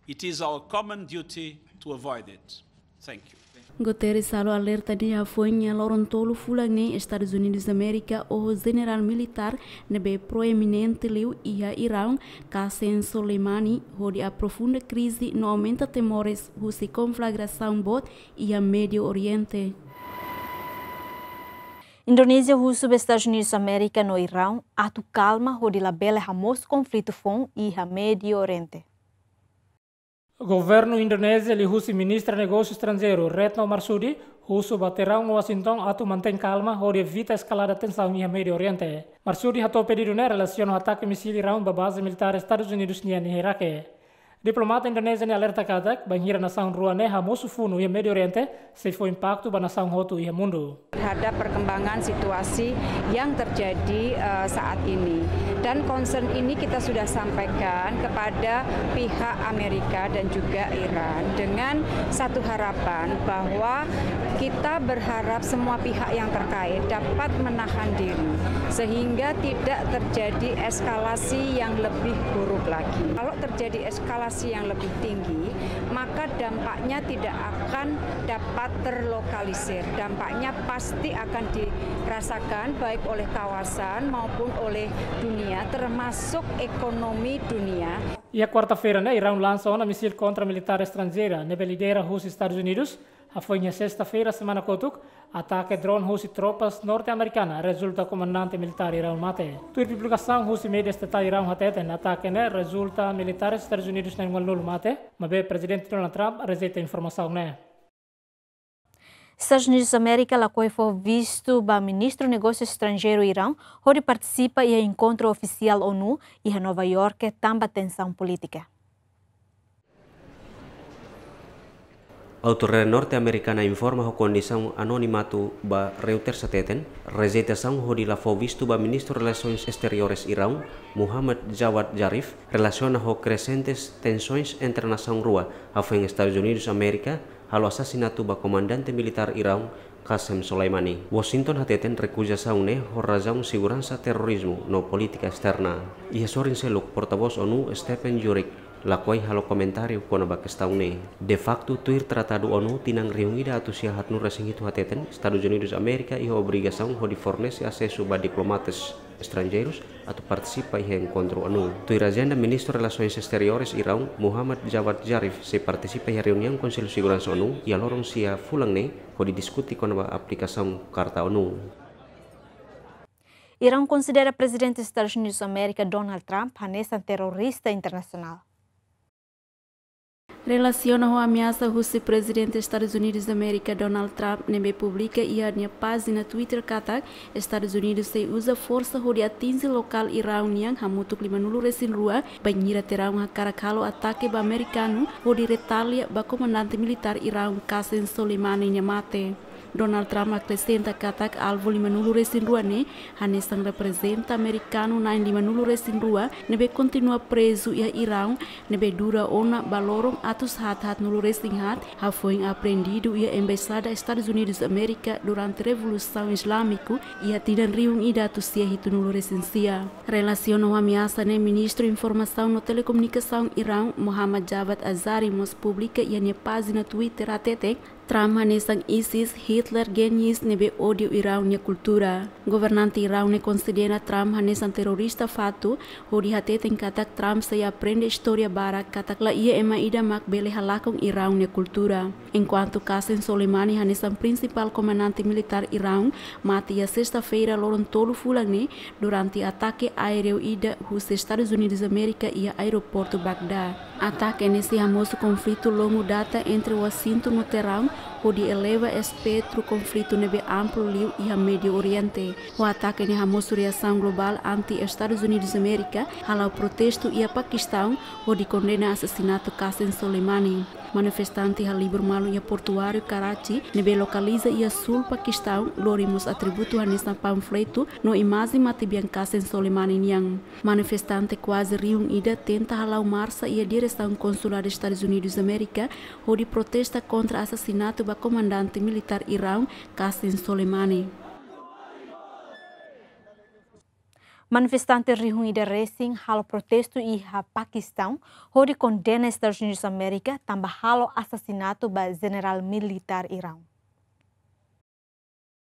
It is our common duty to avoid it. Thank you. Guterres halo alerta ne'e hafoin iha loron tolu fulan ne'e Estadus Unidus Amérika ho jenerál militár ne'ebé proeminente liu iha Iraun, Qasem Soleimani, hodi aprofunda krize no aumenta temores husi konflagrasaun boot iha Médiu Oriente. Indonézia husu ba Estadus Unidus Amérika no Iraun atu kalma hodi labele hamosu konflitu foun iha Médiu Oriente. Governu Indonézia liuhusi Ministra Negósiu Estranjeiru Retno Marsudi husu ba Tehrán no Washington atu mantein kalma hodi evita eskalada tensaun iha Médiu Oriente. Marsudi hato'o pedidu ne'e relasiona ho atake misil Iraun ba baze militár Estadus Unidus nian iha Irake. Diplomata Indonézia ne'e alerta katak, bainhira nasaun rua ne'e hamosu funu iha Médiu Oriente, sei fó impaktu ba nasaun hotu iha mundu. Terhadap perkembangan situasi yang terjadi, eh, saat ini. Dan concern ini kita sudah sampaikan kepada pihak Amerika dan juga Iran dengan satu harapan bahwa kita berharap semua pihak yang terkait dapat menahan diri sehingga tidak terjadi eskalasi yang lebih buruk lagi. Kalau terjadi eskalasi yang lebih tinggi, maka dampaknya tidak akan dapat terlokalisir. Dampaknya pasti akan dirasakan baik oleh kawasan maupun oleh dunia, termasuk ekonomi dunia. Iha kuarta-feira ne'e, Iraun lansa ona misil kontra militár estranjeira ne'ebé lidera husi Estadus Unidus, hafoin iha sesta-feira semana kotuk, atake drone husi tropas norte-amerikana rezulta komandante militár Iraun mate. Tuir publikasaun husi média estatál Iraun hateten, atake ne'e rezulta militár Estadus Unidus na'in-ualunulu mate, maibé Prezidente Donald Trump rejeita informasaun ne'e. Estadus Unidus Amérika lakohi fó vistu ba Ministru Negósiu Estranjeiru Iraun hodi partisipa iha enkontru ofisiál ONU iha Nova Iorke tanba tensaun polítika. Autoridade norte-amerikana informa ho kondisaun anonimatu ba Reuters hateten, rejeitasaun hodi la fó vistu ba Ministru Relasoens Exteriores Iraun, Muhammad Javad Zarif, relasiona ho krexentes tensoens entre nasaun rua, hafoin Estadus Unidus Amérika halo asasinatu ba komandante militár Iraun, Qasem Soleimani. Washington hateten rekuzasaun ne'e ho razaun seguransa, terrorizmu no polítika esterna. Iha sorin seluk, portavós ONU, Stephen Dujarric, lakohi halo komentáriu kona-ba kestaun ne'e. De facto, tuir tratadu ONU tinan rihun ida atus sia haatnulu-resin-hitu hateten, Estadus Unidus Amérika iha obrigasaun hodi fornese asesu ba diplomatas estranjeirus atu partisipa iha enkontru ONU. Tuir ajenda, Ministru Relasoens Exteriores Iraun, Muhammad Javad Zarif, sei partisipa iha reuniaun Konsellu Seguransa ONU iha loron sia fulan ne'e, hodi diskute kona-ba aplikasaun Karta ONU. Iraun konsidera Prezidente Estadus Unidus Amérika Donald Trump hanesan terrorista internasionál. Relasiona ho ameasa husi Prezidente Estadus Unidus Amérika Donald Trump ne'ebé publika iha nia pájina Twitter katak Estadus Unidus sei uza forsa hodi atinje lokál Iraun nian hamutuk limanulu-resin-rua bainhira Teeraun hakarak halo atake ba amerikanu hodi retália ba komandante militár Iraun Qasem Soleimani nia mate. Donald Trump akresenta katak alvu limanulu-resin-rua ne'e hanesan reprezenta amerikanu na'in limanulu-resin-rua ne'ebé kontinua prezu iha Iraun, ne'ebé dura ona ba loron atus haat haatnulu-resin-haat, hafoin apreendidu iha Embaixada Estadus Unidus Amérika durante Revolusaun Izlámiku iha tinan rihun ida atus sia hitunulu-resin-sia. Relasiona ho ameasa ne'e, Ministru Informasaun no Telekomunikasaun Iraun, Mohammad Javad Azari, mós publika iha nia pájina Twitter hateten, Trump hanesan ISIS, Hitler, Genghis ne'ebé ódiu Iraun nia kultura. Governante Iraun ne'e konsidera Trump hanesan terrorista fatuk, hodi hateten katak Trump sei aprende istória barak katak la iha ema ida mak bele halakon Iraun nia kultura. Enkuantu Qasem Soleimani hanesan prinsipál komandante militár Iraun mate iha sesta-feira loron tolu fulan ne'e durante atake aéreu ida husi Estadus Unidus Amérika iha aeroportu Bagdá. Atake ne'e sei hamosu konflitu longu data entre Washington no Teeraun, hodi eleva espetru konflitu ne'ebé amplu liu iha Médiu Oriente. Ho atake ne'e hamosu reasaun globál anti Estadus Unidus Amérika, hala'o protestu iha Pakistaun, hodi kondena asasinatu Qasem Soleimani. Manifestante halibur malu iha portuáriu Karachi, ne'ebé lokaliza iha súl Pakistaun, lori mós atributu hanesan panfletu no imajen matebian Qasem Soleimani nian. Manifestante kuaze rihun ida tenta hala'o marsa iha diresaun Konsuladu Estadus Unidus Amérika, hodi protesta kontra asasinatu ba komandante militár Iraun, Qasem Soleimani. Manifestante rihun ida resin halo protestu iha Pakistaun, hodi kondena Estadus Unidus Amérika tanba halo asasinatu ba jenerál militár Iraun.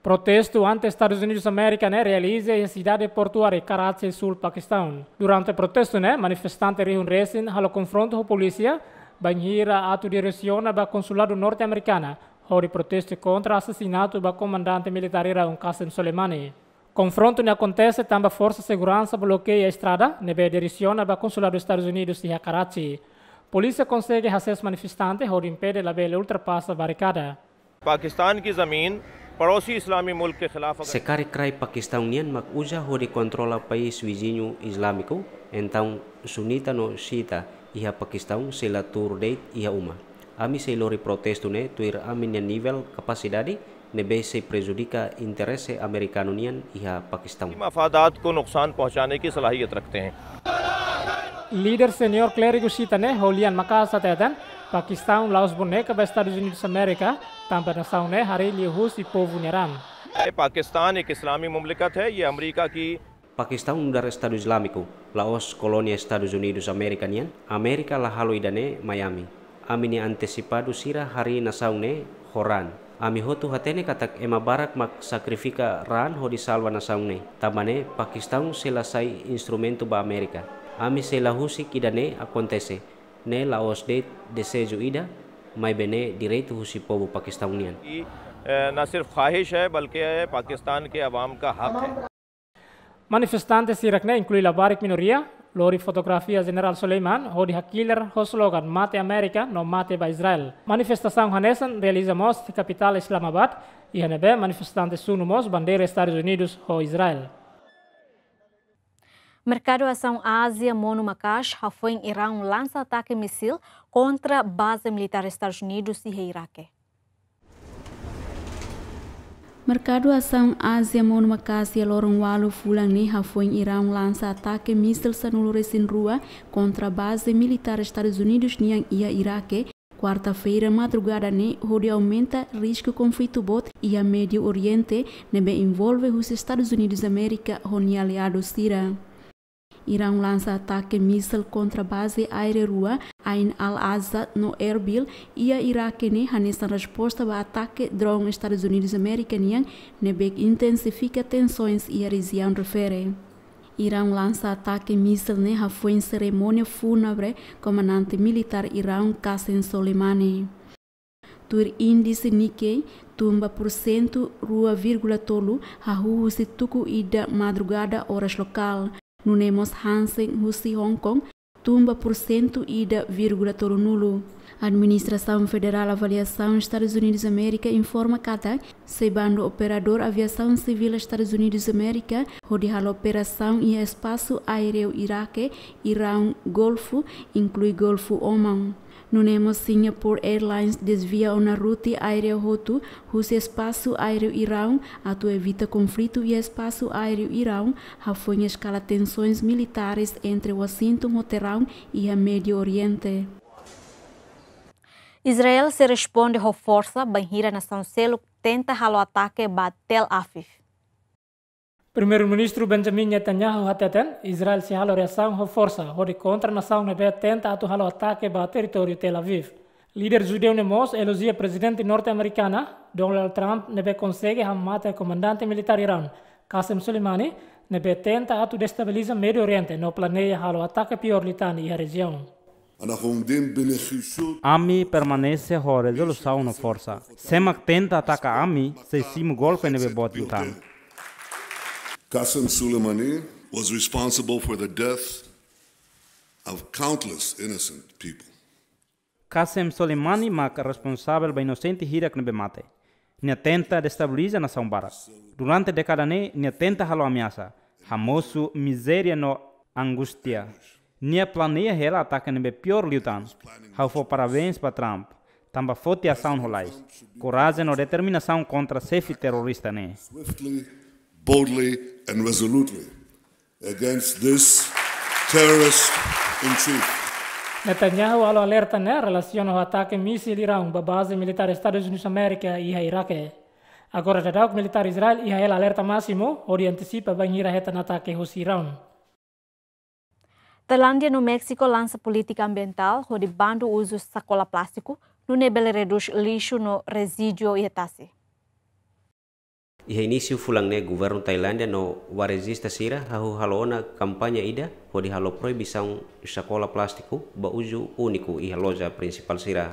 Protestu anti Estadus Unidus Amérika ne'e realiza iha sidade portuária Karachi, súl Pakistaun. Durante protestu ne'e, manifestante rihun resin halo konfrontu ho polísia, bainhira atu diresiona ba konsuladu norte-amerikana, hodi protestu kontra asasinatu ba komandante militár Iraun Qasem Soleimani. Konfrontu ne'e akontese tanba forsa seguransa blokeia estrada ne'ebé diresiona ba konsuladu Estadus Unidus iha Karachi. Polísia konsege hasees manifestante hodi impede labele ultrapasa barikada. Pakistan की ज़मीन पड़ोसी इस्लामी मुल्क के खिलाफ अगर Se karik rai Pakistaun nian mak uza hodi kontrola país viziñu Izlámiku, entaun sunita no xiita iha Pakistaun sei la tuur de'it iha uma. Ami sei lori protestu ne'e tuir ami-nia nivel kapasidade, ne'ebé sei prejudika interese amerikanu nian iha Pakistaun. मफादात को नुकसान पहुंचाने की सलाहियत रखते हैं। Líder seniór klérigu xiita ne'e, ho lian maka'as hateten, Pakistaun la'ós boneka ba Estadus Unidus Amérika, tanba nasaun ne'e harii liuhusi povu nia ran. Pakistan एक इस्लामी मुमलिकत है, ये अमेरिका की Pakistaun nu'udar Estadu Izlámiku, la'ós kolónia Estadus Unidus Amérika nian, Amérika la halo ida-ne'e mai ami. Ami-nia antesipadu sira harii nasaun ne'e ho ran. Ami hotu hatene katak ema barak mak sakrifika ran hodi salva nasaun ne'e. Tanba ne'e, Pakistaun sei la sai instrumentu ba Amérika. Ami sei la husik ida-ne'e akontese. Ne'e la'ós de'it dezeju ida, maibé ne'e direitu husi povu Pakistaun nian. ये, अ, न सिर्फ ख्वाहिश है, बल्कि ये पाकिस्तान के अवाम का हक है। Manifestante sira ne'e inklui labarik minoria, lori fotografia Jenerál Soleiman, hodi hakilar ho slogan "Mate Amérika" no "Mate ba Israel". Manifestasaun hanesan realiza mós iha kapitál Islamabad, iha ne'ebé manifestante sunu mós bandeira Estadus Unidus ho Israel. Merkadu Asaun Ázia Monu Makaash hafoin Iraun lansa atake misil kontra baze militár Estadus Unidus iha Iraque. Merkadu Asaun Ázia Monu Makaash iha loron ualu fulan ne'e hafoin Iraun lansa atake misil sanulu-resin-rua kontra baze militár Estadus Unidus nian iha Iraque, kuarta-feira madrugada ne'e, hodi aumenta risku konflitu boot iha Médiu Oriente, ne'ebé envolve husi Estadus Unidus Amérika ho nia aliadu sira. Iraun lansa atake misil kontra baze aéreu rua, Ain al-Asad no Erbil, iha Iraque ne'e hanesan resposta ba atake drone Estadus Unidus Amérika nian, ne'ebé intensifika tensoens iha rejiaun refere. Iraun lansa atake misil ne'e hafoin serimónia fúnebre komandante militár Iraun Qasem Soleimani. Tuir índise Nikkei, tumba pursentu rua vírgula tolu hahú husi tuku ida madrugada oras lokál. Nune'e mós Hang Seng husi Hong Kong, tun ba pursentu ida vírgula tolunulu. Administrasaun Federál Avaliasaun Estadus Unidus Amérika informa katak, sei bandu operadór aviasaun sivíl Estadus Unidus Amérika, hodi halo operasaun iha espasu aéreu Iraque, Irán, Golfu, inklui Golfu Oman. Nune'e mós Singapore Airlines dezvia ona rute aéreu hotu husi espasu aéreu Irán, atu evita konflitu iha espasu aéreu Irán, hafoin eskala tensoens militares entre Washington ho Tehrán iha Médiu Oriente. Israel sei responde ho forsa bainhira nasaun seluk tenta halo atake ba Tel Aviv. Primeiru-Ministru Benjamin Netanyahu hateten, Israel sei halo reasaun ho forsa, hodi kontra nasaun ne'ebé tenta atu halo atake ba territóriu Tel Aviv. Líder judeu ne'e mós elojia Prezidente norte-amerikana, Donald Trump, ne'ebé konsege hamate komandante militár Irán, Qasem Soleimani, ne'ebé tenta atu destabiliza Médiu Oriente no planeia halo atake piór liután iha rejiaun. אנחנו עומדים בנחישות. Ami permanese ho rezolusaun no forsa. Sé mak tenta ataka ami, sei simu golpe ne'ebé boot liután. Qasem Soleimani was responsible for the death of countless innocent people. Qasem Soleimani mak responsavel ba inosente hirak ne'ebé mate. Nia tenta destabiliza nasaun barak. Durante dékada ne'e, nia tenta halo ameasa, hamosu mizéria no angústia. Nia planeia hela atake ne'ebé piór liután. Ha'u fó parabéns ba Trump, tanba foti asaun ho lais, korajen no determinasaun kontra xefe terrorista ne'e. Swiftly, boldly, and resolutely against this terrorist in chief. Netanyahu halo alerta ne'e relasiona ho atake mísil Irán ba baze militár Estadus Unidus Amérika iha Iraque. Agora daudaun militár Israel iha hela alerta másimu, hodi antisipa bainhira hetan atake husi Irán. Tailándia no Méxiku lansa polítika ambientál hodi bandu uzu sakola plástiku, nune'e bele redús lixu no rezídiu iha tasi. Iha inísiu fulan ne'e, governu Tailándia no warezista sira hahú halo ona kampaña ida hodi halo proibisaun sakola plástiku ba uzu úniku iha loja prinsipál sira.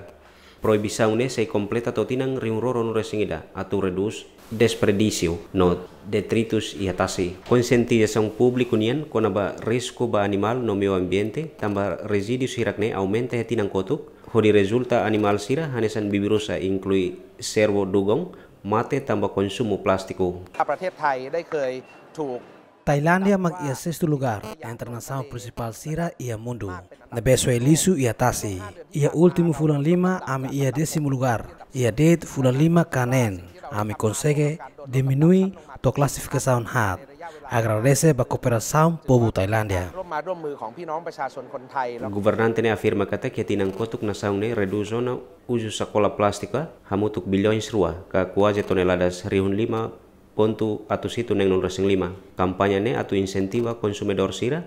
Proibisaun ne'e sei kompleta to'o tinan rihun rua ruanulu-resin-ida atu redús desperdísiu no detritus iha tasi. Konsientizasaun públiku nian kona-ba risku ba animál no meiu ambiente tanba rezídiu hirak ne'e aumenta iha tinan kotuk, hodi rezulta animál sira hanesan bibi-rusa, inklui servu dugong, mate tanba konsumu plástiku. ประเทศไทยได้เคยถูก Tailándia mak iha sestu lugár entre nasaun prinsipál sira iha mundu ne'ebé soe lixu iha tasi. Iha últimu fulan lima, ami iha désimu lugár. Iha de'it fulan lima ka neen, ami konsege diminui to'o klasifikasaun haat. Agradese ba kooperasaun povu Tailándia. ร่วมไม้ร่วมมือของพี่น้องประชาชนคนไทย Governante ne'e afirma katak iha tinan kotuk nasaun ne'e redús ona uzu sakola plástiku hamutuk bilhões rua, ka kuaze toneladas rihun lima pontu atus hitu neenulu-resin-lima. Kampaña ne'e atu insentiva konsumidór sira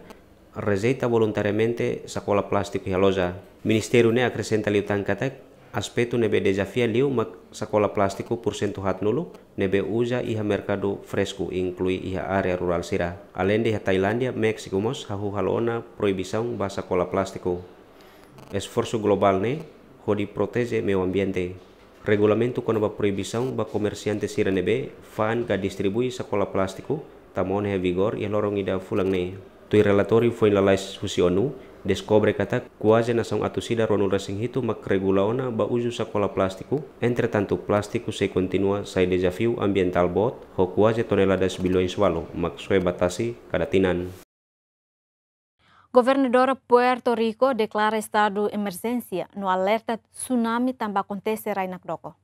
rejeita voluntariamente sakola plástiku iha loja. Ministériu ne'e akresenta liután katak, aspetu ne'ebé dezafia liu mak sakola plástiku pursentu haatnulu ne'ebé uza iha merkadu fresku, inklui iha área rurál sira. Aleinde iha Tailándia, Méxiku mós hahú halo ona proibisaun ba sakola plástiku. Esforsu globál ne'e hodi proteje meiu ambiente. Regulamentu kona-ba proibisaun ba komersiante sira ne'ebé fa'an ka distribui sakola plástiku tama ona iha vigór iha loron ida fulan ne'e. Tuir relatóriu foin lalais husi ONU, deskobre katak kuaze nasaun atus ida ruanulu-resin-hitu mak regula ona ba uzu sakola plástiku. Entretantu, plástiku sei kontinua sai dezafiu ambientál boot, ho kuaze toneladas bilhões walu mak soe ba tasi kada tinan. Governadora Puerto Rico deklara estadu emerjénsia no alerta tsunami tanba akontese rai nakdoko.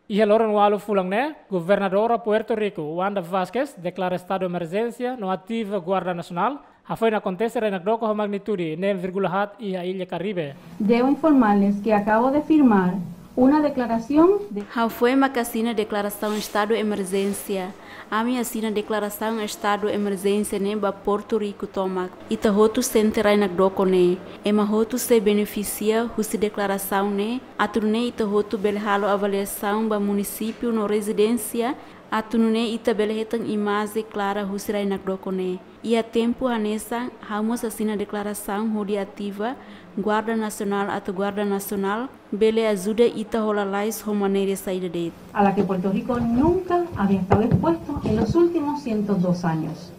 Iha loron ualu fulan ne'e, Governadora Puerto Rico, Wanda Vásquez, deklara estadu emerjénsia no ativa Guarda Nasionál, hafoin akontese rai nakdoko ho magnitude neen vírgula haat iha Ilha Karibe. Debo informarles que acabo de firmar una declaración de... Ha'u foin mak asina deklarasaun estadu emerjénsia. Ami asina deklarasaun estadu emerjénsia ne'e ba Porto Riku tomak. Ita hotu sente rai nakdoko ne'e. Ema hotu sei benefisia husi deklarasaun ne'e, atu nune'e ita hotu bele halo avaliasaun ba munisípiu no rezidénsia, atu nune'e ita bele hetan imajen klara husi rai nakdoko ne'e. Iha tempu hanesan, ha'u mós asina deklarasaun hodi ativa Guarda Nasionál atu Guarda Nasionál bele ajuda ita hola lalais ho maneira saida de'it. A la que Puerto Rico nunca había estado expuesto en los últimos ciento dos años.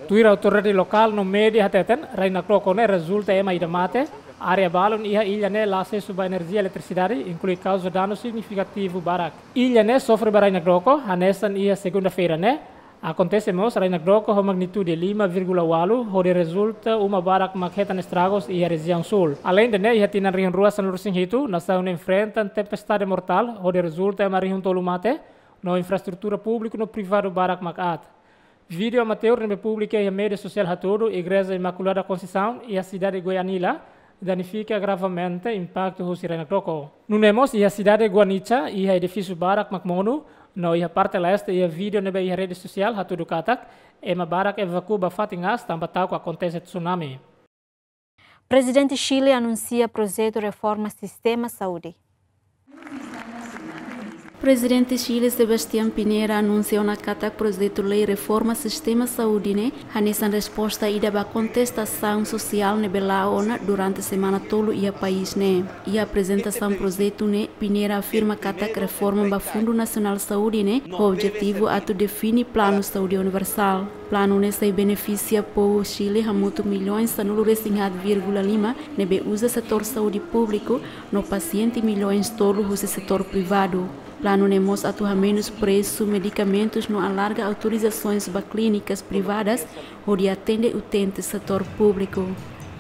Tuir autoridade lokál no média hateten, rai-nakdoko ne'e rezulta ema ida mate. Área balun iha illa ne'e la asesu ba enerjia eletrisidade, inklui kauza danu signifikativu barak. Illa ne'e sofre ba rai-nakdoko, hanesan iha segunda-feira ne'e akontese mós rai-nakdoko ho magnitude lima vírgula ualu, hodi rezulta uma barak mak hetan estragus iha rejiaun súl. Aleinde ne'e, iha tinan rihun rua sanulu-resin-hitu, nasaun ne'e enfrenta tempestade mortál, hodi rezulta ema rihun tolu mate, no infraestrutura públiku no privadu barak mak aat. Vídeo amateur ne'ebé publika iha média sosiál hatudu igreja Imaculada Conceição iha sidade Goianila danifika gravamente impaktu husi rai-nakdoko. Nune'e mós iha sidade Guanicha, iha edifísiu barak mak monu, no iha parte leste iha vídeo ne'ebé iha rede sosiál hatudu katak ema barak evakua ba fatin aas tanba ta'uk akontese tsunami. Prezidente Chile anunsia projetu reforma sistema saúde. Prezidente Chile Sebastián Pinera anunsia ona katak projetu lei reforma sistema saúde ne'e hanesan resposta ida ba kontestasaun sosiál ne'ebé la'o ona durante semana tolu iha país ne'e. Iha aprezentasaun projetu ne'e, Pinera afirma katak reforma ba Fundu Nasionál Saúde ne'e ho objetivu atu define planu saúde universál. Planu ne'e sei benefisia povu Chile hamutuk milhões sanulu-resin-haat vírgula lima ne'ebé uza setór saúde públiku no pasiente milhões tolu husi setór privadu. Planu ne'e mós atu hamenus presu medikamentus no alarga autorizasoens ba klínikas privadas hodi atende utente setór públiku.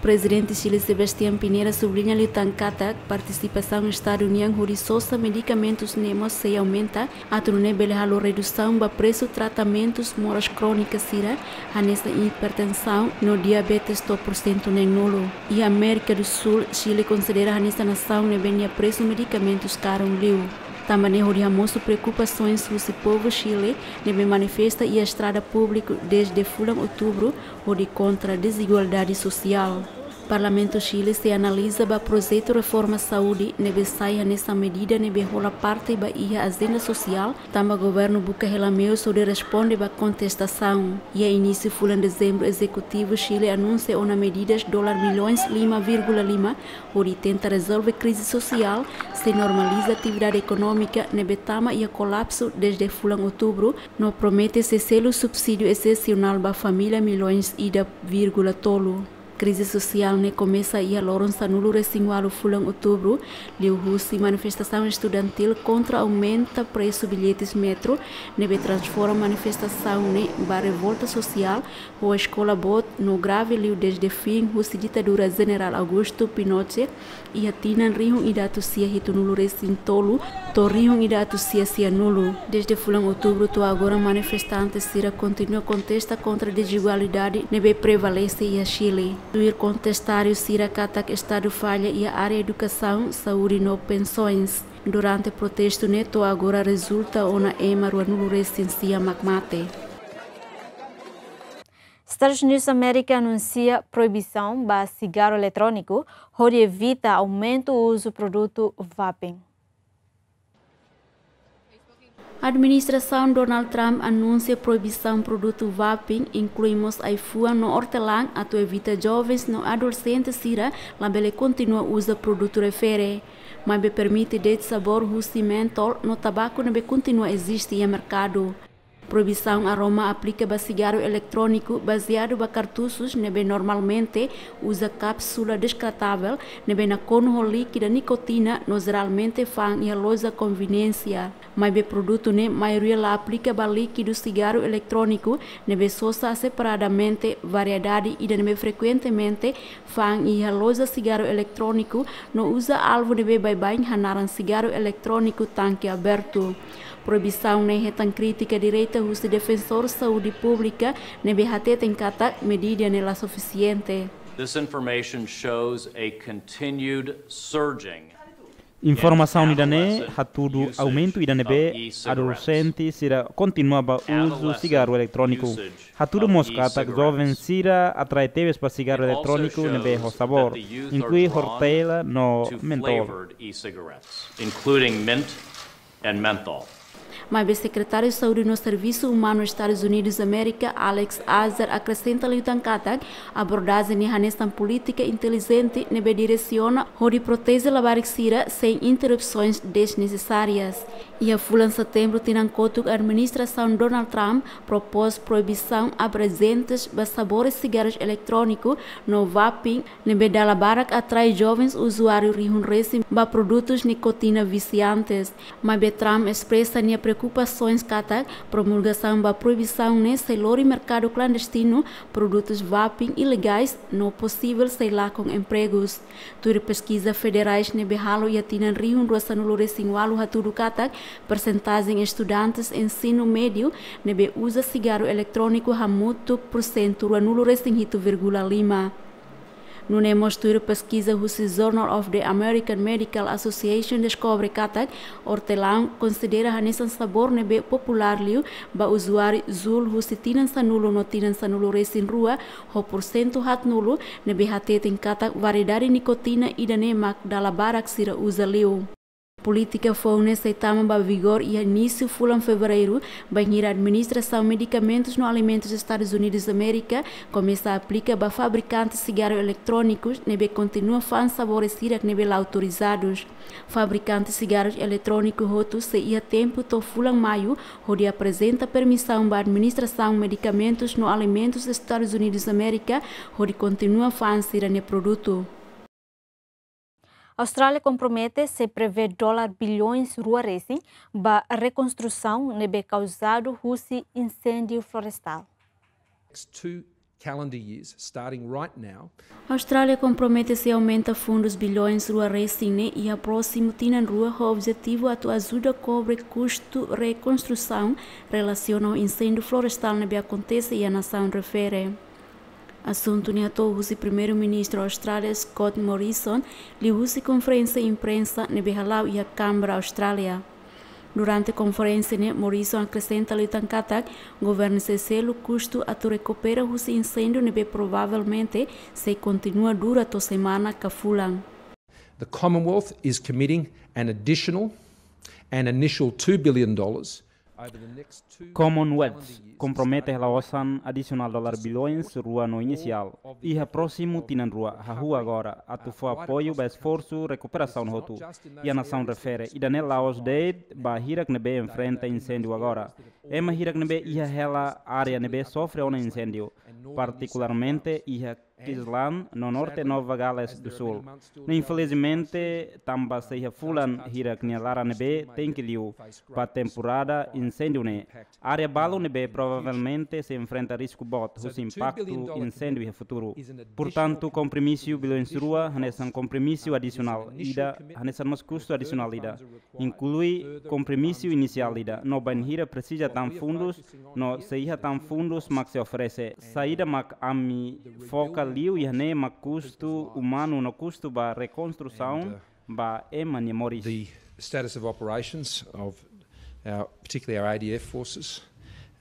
Prezidente Chile Sebastián Pinera subliña liután katak partisipasaun Estadu nian hodi sosa medikamentus ne'e mós sei aumenta, atu nune'e bele halo redusaun ba presu tratamentus moras krónika sira, hanesan hipertensaun no diabetes to'o porsentu neen-nulu. Iha Amérika do Súl, Chile konsidera hanesan nasaun ne'ebé nia presu medikamentus karun liu. Tanba ne'e hodi hamosu preokupasoens husi povu Chile ne'ebé manifesta iha estrada públiku dezde fulan Outubru hodi kontra dezigualdade sosiál. Parlamentu Chile sei analiza ba projetu reforma saúde ne'ebé sai hanesan medida ne'ebé hola parte ba iha ajenda sosiál, tanba governu buka hela meius hodi responde ba kontestasaun. Iha inísiu fulan Dezembru, ezekutivu Chile anunsia ona medidas dolar milhões lima vírgula lima hodi tenta rezolve krize sosiál, sei normaliza atividade ekonómika ne'ebé tama iha kolapsu dezde fulan Outubru, no promete sei selu subsídiu esesionál ba família milhões ida vírgula tolu. Krize sosiál ne'e komesa iha loron sanulu-resin-ualu fulan Outubru, liuhusi manifestasaun estudantíl kontra aumenta presu billetes metro, ne'ebé transforma manifestasaun ne'e ba revolta sosiál, ho eskola boot no grave liu dezde fin husi ditadura Jenerál Augusto Pinochet, iha tinan rihun ida atus sia hitunulu-resin-tolu to'o rihun ida atus sia sianulu. Dezde fulan Outubru to'o agora, manifestante sira kontinua kontesta kontra dezigualdade ne'ebé prevalese iha Chile. Tuir kontestáriu sira katak Estadu falla iha área edukasaun, saúde no pensoens. Durante protestu ne'e to'o agora rezulta ona ema ruanulu-resin-sia mak mate. Estados Unidos Amérika anunsia proibisaun ba sigaru eletróniku hodi evita aumentu uzu produtu vaping. Administrasaun Donald Trump anunsia proibisaun produtu vaping, inklui mós ai-fuan no ortelã, atu evita jovens no adolexente sira labele kontinua uza produtu refere. Maibé permite de'it sabór husi mentol no tabaku ne'ebé kontinua eziste iha merkadu. Proibisaun aroma aplika ba sigaru eletróniku bazeadu ba kartusus ne'ebé normalmente uza kápsula deskartavel ne'ebé nakonu ho líkida nikotina no jeralmente fa'an iha loja konveniénsia. Maibé produtu ne'e maioria la aplika ba líkidu sigaru eletróniku ne'ebé sosa separadamente variedade ida ne'ebé frekuentemente fa'an iha loja sigaru eletróniku no uza alvu ne'ebé baibain hanaran sigaru eletróniku tanke abertu. Proibisaun ne'e hetan krítika direta husi defensór saúde públika ne'ebé hateten katak medida ne'e la sufisiente. This information shows a continued surging. Informasaun ida-ne'e hatudu aumentu ida ne'ebé adolexente sira kontinua ba uzu sigaru eletróniku. Hatudu mós katak joven sira atrai tebes ba sigaru eletróniku ne'ebé ho sabór, inklui ortelã no mentol. Including mint and menthol. Maibé Sekretáriu Saúde no Servisu Umanu Estadus Unidus Amérika, Alex Azar, akresenta liután katak abordajen ne'e hanesan polítika intelijente ne'ebé diresiona hodi proteje labarik sira sein interrupsoens desnesesárias. Iha fulan Setembru tinan kotuk, administrasaun Donald Trump propôs proibisaun abrejentes ba sabores sigarus eletróniku no vaping, ne'ebé dala barak atrai jovens uzuáriu rihun resin ba produtus nikotina visiantes. Maibé Trump espresa nia preokupasoens katak promulgasaun ba proibisaun ne'e sei lori merkadu klandestinu, produtus vaping ilegais no posivel sei lakon empregus. Tuir peskiza federais ne'ebé halo iha tinan rihun rua sanulu resin ualu hatudu katak persentajen estudantes ensinu médiu ne'ebé uza sigaru eletróniku hamutuk pursentu rua nulu resin hitu vírgula lima. Nune'e mós tuir peskiza husi Journal of the American Medical Association deskobre katak ortelán konsidera hanesan sabór ne'ebé populár liu ba uzuáriu Juul husi tinan sanulu no tinan sanulu resin rua, ho pursentu haatnulu ne'ebé hateten katak variedade nikotina ida-ne'e mak dala barak sira uza liu. Polítika foun ne'e sei tama ba vigór iha inísiu fulan Fevereiru, bainhira Administrasaun Medikamentus no Alimentus Estadus Unidus Amérika komesa aplika ba fabrikante sigaru eletrónikus ne'ebé kontinua fa'an sabores hirak ne'ebé la autorizadus. Fabrikante sigarus eletróniku hotu sei iha tempu to'o fulan Maiu hodi aprezenta permisaun ba Administrasaun Medikamentus no Alimentus Estadus Unidus Amérika hodi kontinua fa'an sira-nia produtu. Austrália kompromete sei prevee dólar bilhões rua resin ba rekonstrusaun ne'ebé kauzadu husi inséndiu florestál. Next two calendar years, starting right now. Austrália kompromete sei aumenta fundus bilhões rua resin ne'e iha prósimu tinan rua, ho objetivu atu ajuda kobre kustu rekonstrusaun relasiona ho inséndiu florestál ne'ebé akontese iha nasaun refere. Asuntu ne'e hato'o husi Primeiru-Ministru Austrália Scott Morrison liuhusi konferénsia imprensa ne'ebé hala'o iha Canberra, Austrália. Durante konferénsia ne'e, Morrison akresenta liután katak governu sei selu kustu atu rekupera husi inséndiu ne'ebé provavelmente sei kontinua dura to'o semana ka fulan. The Commonwealth is committing an additional, an initial two billion dollars over the next two Commonwealth calendar years, kompromete hela osan adisionál dólar bilhões rua no inisiál iha prósimu tinan rua, hahú agora, atu fó apoiu ba esforsu rekuperasaun hotu iha nasaun refere. Ida-ne'e la'ós de'it ba hirak ne'ebé enfrenta inséndiu agora. Ema hirak ne'ebé iha hela área ne'ebé sofre ona inséndiu, partikularmente iha Queensland no Norte Nova Gales do Sul. No infelizmente, tanba sei iha fulan hirak nia laran ne'ebé tenke liu ba temporada inséndiu ne'e. Área balu ne'ebé provavelmente sei enfrenta risku boot husi impaktu inséndiu iha futuru. Portantu, kompromisu bilhões rua hanesan kompromisu adisionál ida, hanesan mós kustu adisionál ida, inklui kompromisu inisiál ida, no bainhira presiza tan fundus, no sei iha tan fundus mak sei oferese. Saida mak ami foka liu iha ne'e mak kustu umanu no kustu ba rekonstrusaun ba ema nia moris. The status of operations of our, particularly our A D F forces,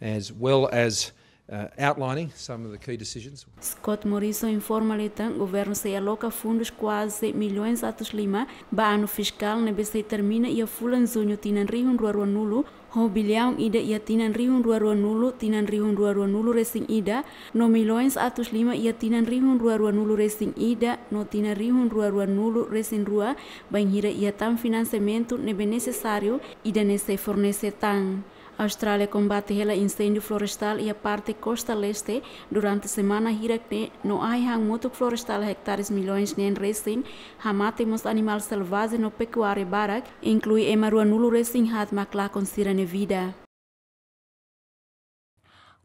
as well as, uh, outlining some of the key decisions. Scott Morrison informa liután governu sei aloka fundus kuaze milhões atus lima ba anu fiskál ne'ebé sei termina iha fulan Juñu tinan rihun rua rua nulu, ho bilhão ida iha tinan rihun rua rua nulu, tinan rihun rua rua nulu resin ida, no milhões atus lima iha tinan rihun rua rua nulu resin ida, no tinan rihun rua rua nulu resin rua, bainhira iha tan finansiamentu ne'ebé nesesáriu, ida-ne'e sei fornese tan. Austrália kombate hela inséndiu florestál iha parte kosta leste durante semana hirak ne'e, no ahi han mutuk florestál ektares milhões neen resin, hamate mós animál selvajen no pekuária barak, inklui ema rua nulu resin haat mak lakon sira-nia vida.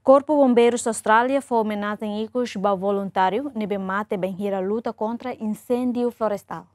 Korpu Bombeirus Austrália fó omenajen ikus ba voluntáriu ne'ebé mate bainhira luta kontra inséndiu florestál.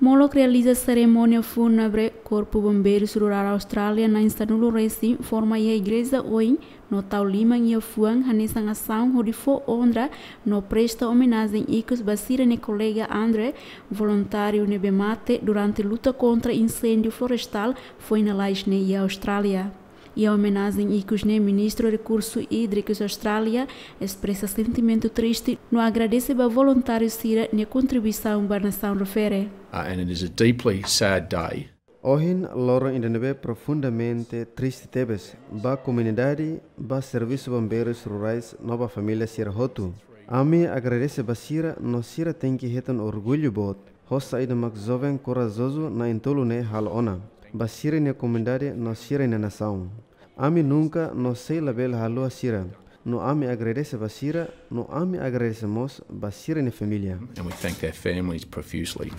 Molok realiza serimónia fúnebre Korpu Bombeirus Rurál Austrália na'in sanulu resin forma iha igreja oin, no tau liman iha fuan hanesan asaun hodi fó onra no presta omenajen ikus ba sira-nia kolega Andre, voluntáriu ne'ebé mate durante luta kontra inséndiu florestál foin lalais ne'e iha Austrália. Iha omenajen ikus ne'e, Ministru Rekursu Ídrikus Austrália espresa sentimentu triste no agradese ba voluntáriu sira-nia kontribuisaun ba nasaun refere. Uh, and it is a deeply sad day. Ohin loron ida ne'ebé profundamente triste tebes ba komunidade, ba servisu bombeirus rurais no ba família sira hotu. Ami agradese ba sira no sira tenke hetan orgullu boot ho saida mak joven korajozu na'in-tolu ne'e halo ona ba sira-nia komunidade no sira-nia nasaun. Ami nunka no sei labele haluha sira, no ami agradese ba sira, no ami agradese mós ba sira-nia família. And we thank their families profusely.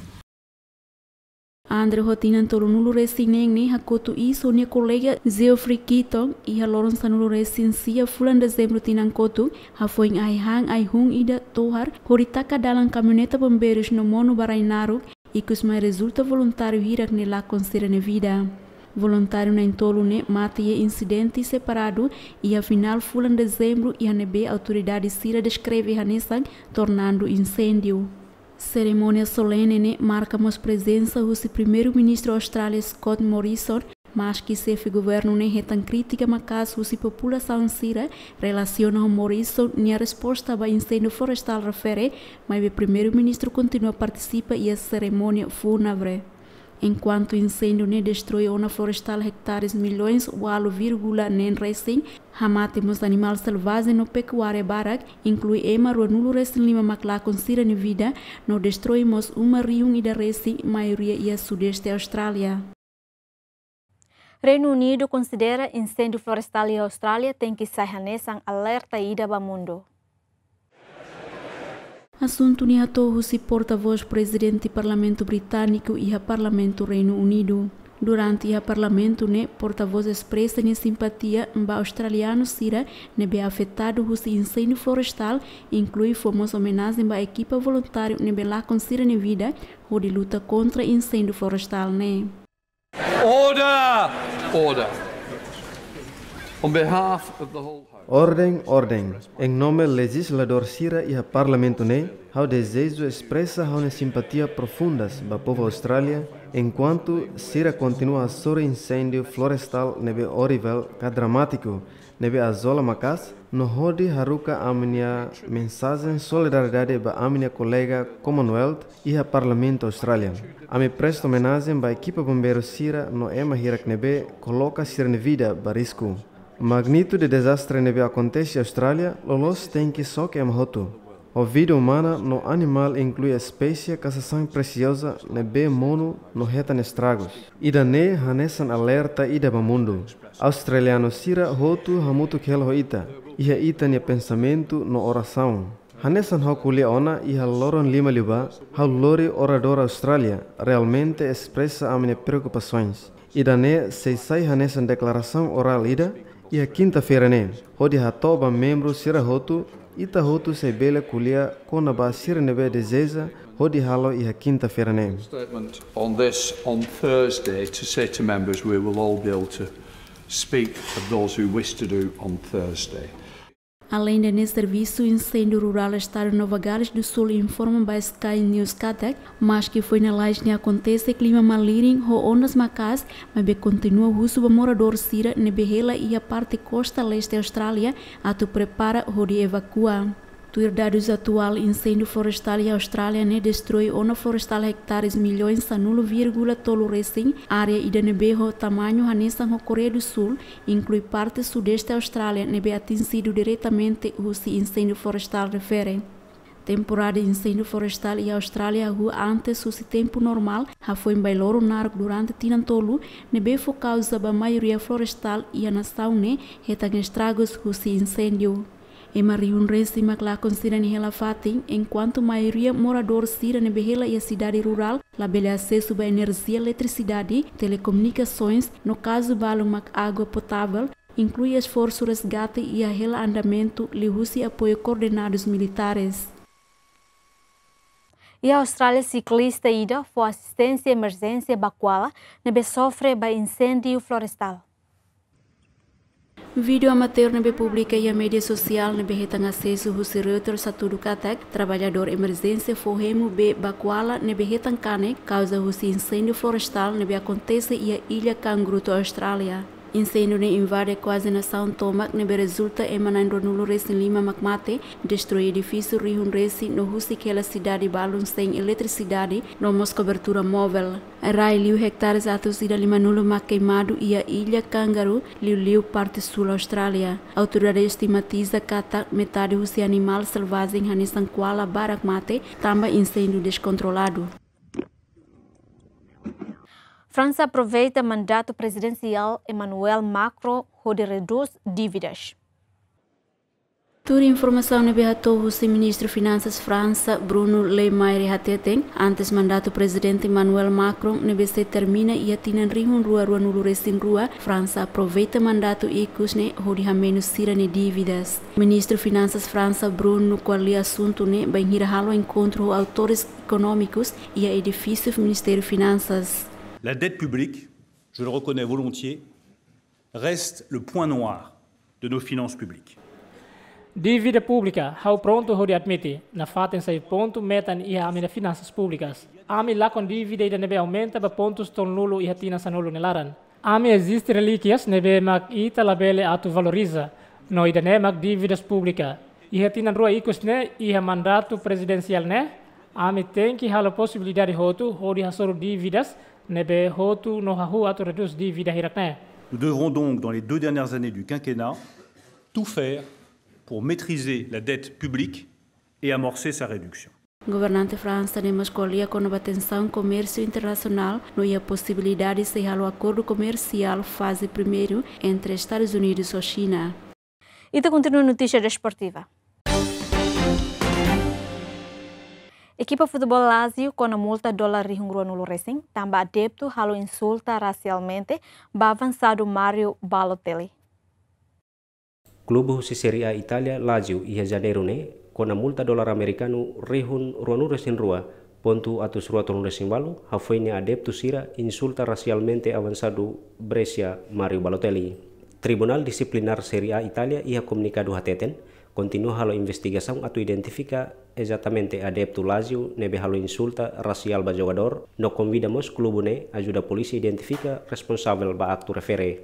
André ho tinan tolunulu-resin-neen ne'e hakotu iis ho nia kolega Geoffrey Keaton iha loron sanulu-resin-sia fulan Dezembru tinan kotuk, hafoin ai-han ai-hun ida tohar hodi taka dalan kamioneta bombeirus no monu ba rai naruk, ikus mai rezulta voluntáriu hirak ne'e lakon sira-nia vida. Voluntáriu na'in-tolu ne'e mate iha insidente separadu iha finál fulan Dezembru, iha ne'ebé autoridade sira deskreve hanesan tornadu inséndiu. Serimónia solene ne'e marka mós prezensa husi Primeiru-Ministru Austrália Scott Morrison, maski xefe governu ne'e hetan krítika maka'as husi populasaun sira relasiona ho Morrison nia resposta ba inséndiu florestál refere, maibé Primeiru-Ministru kontinua partisipa iha serimónia fúnebre. Enkuantu inséndiu ne'e destroi ona florestál ektares milhões ualu vírgula neen resin, hamate mós animál selvajen no pekuária barak, inklui ema ruanulu-resin-lima mak lakon sira-nia vida, no destroi mós uma rihun ida resin, maioria iha sudeste Austrália. Reinu Unidu konsidera inséndiu florestál iha Austrália tenke sai hanesan alerta ida ba mundu. Asuntu ne'e hato'o husi portavós Prezidente Parlamentu Britániku iha Parlamentu Reinu Unidu. Durante iha Parlamentu ne'e, portavós espresa nia simpatia ba australianu sira ne'ebé afetadu husi inséndiu florestál, inklui fó mós omenajen ba ekipa voluntáriu ne'ebé lakon sira-nia vida hodi luta kontra inséndiu florestál ne'e. Order! Order. On behalf of the whole House. Orden, orden. Em nome lejizladór sira iha Parlamentu ne'e, ha'u dezeja espresa ha'u-nia simpatia profundas ba povu Austrália, enkuantu sira kontinua hasoru inséndiu florestál ne'ebé orivel ka dramátiku, ne'ebé azola maka'as, no hodi haruka ami-nia mensajen solidariedade ba ami-nia kolega Commonwealth iha Parlamentu Austrália. Ami presta omenajen ba ekipa bombeiru sira no ema hirak ne'ebé koloka sira-nia vida ba risku. Magnitude dezastre ne'ebé akontese iha Austrália loloos tenke xoke ema hotu. Ho vida umana no animál, inklui espésie ka sasán presioza ne'ebé monu no hetan estragus. Ida-ne'e hanesan alerta ida ba mundu. Australianu sira hotu hamutuk hela ho ita, iha ita-nia pensamentu no orasaun. Hanesan ha'u ko'alia ona iha loron lima liubá, ha'u lori oradór Austrália realmente espresa ami-nia preokupasoens. Ida-ne'e sei sai hanesan deklarasaun orál ida iha kinta-feira ne'e, hodi hato'o ba membru sira hotu, ita hotu sei bele ko'alia kona-ba sira ne'ebé dezeja hodi halo iha kinta-feira ne'e. Statement on this on Thursday to say to members we will all be able to speak of those who wish to do on Thursday. Aleinde ne'e, Servisu Inséndiu Rurál Estadu Nova Gales do Sul informa ba Sky News katak, maski foin lalais ne'e akontese klima malirin ho ondas maka'as, maibé kontinua husu ba moradór sira ne'ebé hela iha parte kosta leste Austrália atu prepara hodi evakua. Tuir dadus atuál, inséndiu florestál iha Austrália ne'e destroi ona florestál ektares milhões sanulu vírgula tolu resin, área ida ne'ebé ho tamañu hanesan ho Koreia do Sul, inklui parte sudeste Austrália ne'ebé atinjidu diretamente husi inséndiu florestál refere. Temporada inséndiu florestál iha Austrália hahú antes husi tempu normál, hafoin bailoro naruk durante tinan tolu, ne'ebé fó kauza ba maioria florestál iha nasaun ne'e hetan estragus husi inséndiu. Ema rihun resin mak lakon sira-nia hela-fatin, enkuantu maioria moradór sira ne'ebé hela iha sidade rurál labele asesu ba enerjia eletrisidade, telekomunikasoens, no kazu balu mak água potável, inklui esforsu resgate iha hela andamentu liuhusi apoiu koordenadus militares. Iha Austrália, siklista ida fó asisténsia emerjénsia ba koala ne'ebé sofre ba inséndiu florestál. Vídeo amateur ne'ebé publika iha média sosiál ne'ebé hetan asesu husi Reuters hatudu katak, traballadór emerjénsia fó hemu bee ba koala ne'ebé hetan kanek kauza husi inséndiu florestál ne'ebé akontese iha Illa Kangaroo, Austrália. Inséndiu ne'e invade kuaze nasaun tomak ne'ebé rezulta ema na'in ruanulu resin lima mak mate, destroi edifísiu rihun resin no husik hela sidade balun sein eletrisidade no mós kobertura móvel. Rai liu ektares atus ida limanulu mak keimadu iha Illa Kangaroo, liuliu parte súl Austrália. Autoridade estimatiza katak metade husi animál selvajen hanesan koala barak mate tanba inséndiu deskontroladu. Fransa aproveita mandatu prezidensiál Emmanuel Macron hodi redús dívidas. Tuir informasaun ne'ebé hato'o husi Ministru Finansas Fransa, Bruno Le Maire hateten, antes mandatu Prezidente Emmanuel Macron ne'ebé sei termina iha tinan rihun rua ruanulu resin rua, Fransa aproveita mandatu ikus ne'e hodi hamenus sira-nia dívidas. Ministru Finansas Fransa, Bruno, ko'alia asuntu ne'e bainhira halo enkontru ho autores ekonómikus iha edifísiu Ministériu Finansas. La dette publique, je le reconnais volontiers, reste le point noir de nos finances publiques. Dívida públika, ha'u prontu hodi admite, nafatin sai pontu metan iha ami-nia finansas públikas. Ami lakon dívida ida ne'ebé aumenta ba pontus tolunulu iha tinan sanulu nia laran. Ami eziste relíkias ne'ebé mak ita labele atu valoriza, no ida-ne'e mak dívidas públika. Iha tinan rua ikus ne'e, iha mandatu prezidensiál ne'e, ami tenke halo posibilidade hotu hodi hasoru dívidas ne'ebé hotu no hahú atu redús dívida hirak ne'e. Nous devrons donc, dans les deux dernières années du quinquennat, tout faire pour maîtriser la dette publique et amorcer sa réduction. Governante Fransa ne'e mós ko'alia kona-ba tensaun komérsiu internasionál no iha posibilidade sei halo akordu komersiál faze primeiru entre Estadus Unidus ho Xina. Ita kontinua notísia desportiva. Ekipa futeból Lazio kona multa dolar rihun ruanulu resin, tanba adeptu halo insulta rasialmente ba avansadu Mario Balotelli. Klube husi Série A Itália, Lazio, iha Janeiru ne'e, kona multa dolar amerikanu rihun ruanulu resin rua pontu atus rua tolunulu resin ualu, hafoin nia adeptu sira insulta rasialmente avansadu Brescia, Mario Balotelli. Tribunál Disiplinár Série A Itália iha komunikadu hateten, kontinua halo investigasaun atu identifika ezatamente adeptu Lazio ne'ebé halo insulta rasiál ba jogadór, no konvida mós klube ne'e ajuda polísia identifika responsavel ba aktu refere.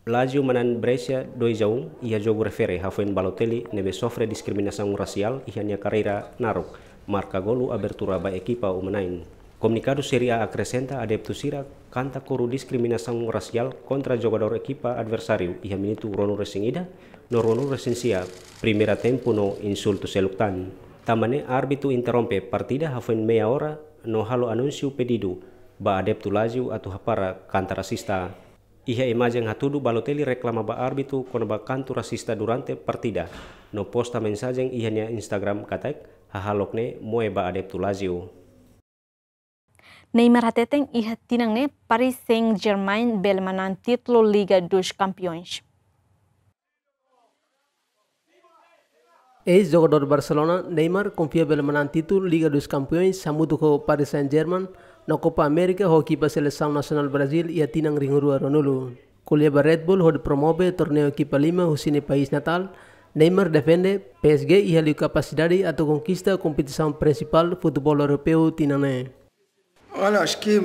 Lazio manán Brescia dois a um iha jogu refere hafoin Balotelli ne'ebé sofre diskriminasaun rasiál iha nia karreira naruk, marka golu abertura ba ekipa uma-na'in. Komunikadu Série A akresenta adeptu sira kanta kuru diskriminasaun rasiál kontra jogadór ekipa adversáriu iha minutu ruanulu resin ida no ruanulu resin sia primeira tempu no insultu seluk tan. Tanba ne'e árbitru interrompe partida hafoin meia ora no halo anúnsiu pedidu ba adeptu Lazio atu hapara kanta rasista. Iha imajen hatudu Balotelli reklama ba árbitru kona-ba kantu rasista durante partida, no posta mensajen iha nia Instagram katak hahalok ne'e moe ba adeptu Lazio. Neymar hateten iha tinan ne'e Paris Saint-Germain bele manán títulu Liga dos Campeões. Eis-jogadór Barcelona, Neymar, konfia bele manán títulu Liga dos Campeões hamutuk ho Paris Saint-Germain no Copa América ho ekipa selesaun nasionál Brazil iha tinan rihun rua ruanulu. Ko'alia ba Red Bull hodi promove torneiu ekipa lima husi nia país natál, Neymar defende P S G iha liu kapasidade atu konkista kompetisaun prinsipál futeból europeu tinan ne'e. Olha, acho que,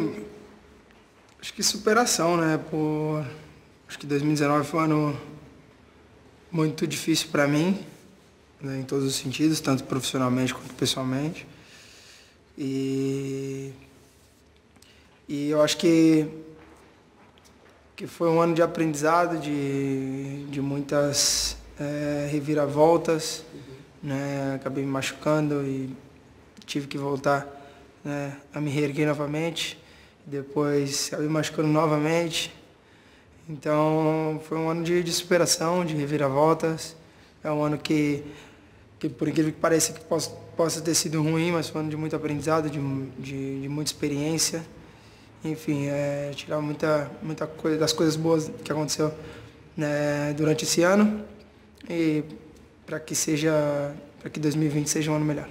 acho que superação, né? Por, acho que dois mil e dezenove foi um ano muito difícil para mim, né, em todos os sentidos, tanto profissionalmente quanto pessoalmente. E, e eu acho que, que foi um ano de aprendizado, de, de muitas, eh, reviravoltas, né? Acabei me machucando e tive que voltar, né, a me reerguer novamente. Depois acabei me machucando novamente. Então, foi um ano de, de superação, de reviravoltas. É um ano que, que, por incrível que pareça, que possa, possa ter sido ruim, mas foi um ano de muito aprendizado, de, de, de muita experiência. Enfim, é, tirar muita, muita coisa das coisas boas que aconteceu, né, durante esse ano. E para que seja, para que dois mil e vinte seja um ano melhor.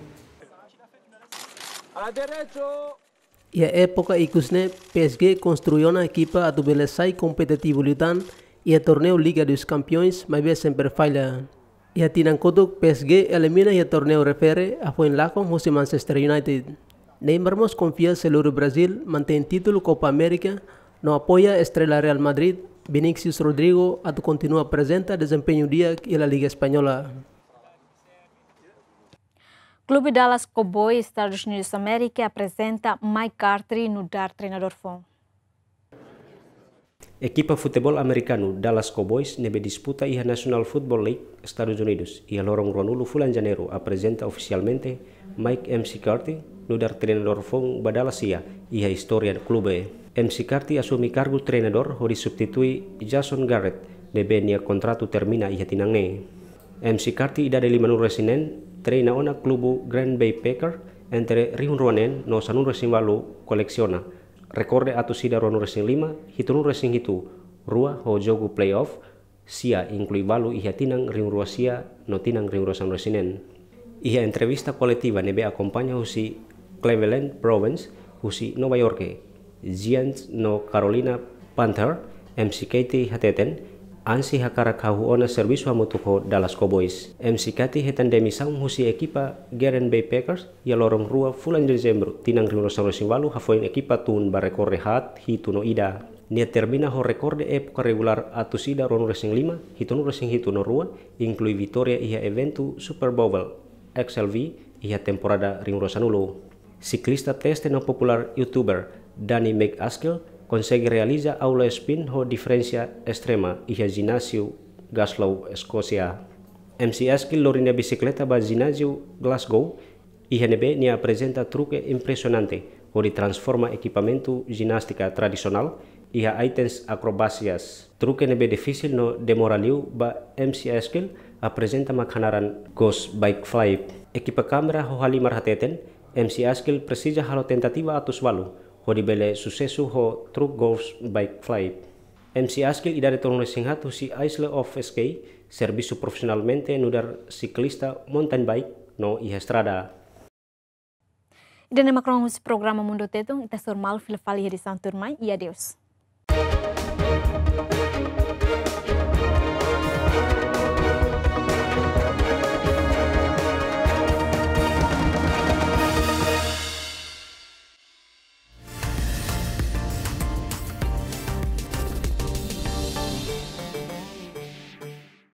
Iha époka ikus ne'e, P S G konstrui ona ekipa atu bele sai kompetitivu liután iha torneiu Liga dos Campeões, maibé sempre falla. Iha tinan kotuk, P S G elimina iha torneiu refere, hafoin lakon husi Manchester United. Neymar mós konfia sei lori Brazil mantein títulu Copa América, no apoia estrela Real Madrid, Vinicius Rodrigo atu kontinua aprezenta dezempeñu di'ak iha La Liga Espanhola. Klube Dallas Cowboys, Estadus Unidus Amérika, aprezenta Mike McCarthy nu'udar treinadór foun. Ekipa futeból amerikanu Dallas Cowboys ne'ebé disputa iha National Football League Estadus Unidus iha loron ruanulu fulan Janeiru aprezenta ofisialmente Mike McCarthy nu'udar treinadór foun ba Dallas sira iha istória klube. McCarthy asume kargu treinadór hodi substitui Jason Garrett ne'ebé nia kontratu termina iha tinan ne'e. McCarthy idade limanulu-resin-neen treina ona klube Green Bay Packers entre rihun rua neen no sanulu-resin-ualu, kolesiona rekorde atus ida ruanulu-resin-lima, hitunulu-resin-hitu, rua ho jogu playoff sira, inklui ualu iha tinan rihun rua sia no tinan rihun rua sanulu-resin-neen. Iha entrevista koletiva ne'ebé akompaña husi Cleveland Browns husi Nova York Giants no Carolina Panthers, McCarthy hateten, ansi hakarak hahú ona servisu hamutuk ho Dallas Cowboys. McCarthy hetan demisaun husi ekipa Green Bay Packers iha loron rua fulan Dezembru tinan rihun rua sanulu-resin-ualu hafoin ekipa tun ba rekorde haat hitu no ida. Nia termina ho rekorde époka regulár atus ida ruanulu-resin-lima, hitunulu-resin-hitu no rua, inklui vitória iha eventu Super Bowl X L V iha temporada rihun rua sanulu. Siklista teste no populár youtuber Danny McAskill konsege realiza aula spin ho diferensa estrema iha jináziu Glasgow, Eskósia. McAskill lori nia bisikleta ba jináziu Glasgow, iha ne'ebé nia aprezenta truke impresionante hodi transforma ekipamentu jinástika tradisionál iha itens akrobásias. Truke ne'ebé difisil no demora liu ba McAskill aprezenta mak hanaran ghost bike flip. Ekipa kámera ho halimar hateten, McAskill presiza halo tentativa atus ualu hodi bele susesu ho truk ghost bike flip. McAskill idade tolunulu-resin-haat husi Isle of Skye, servisu profisionalmente nu'udar siklista mountain bike no iha estrada. Ida-ne'e mak rona husi programa Mundu Tetun, ita hasoru malu fila fali iha edisaun tuirmai, i adeus.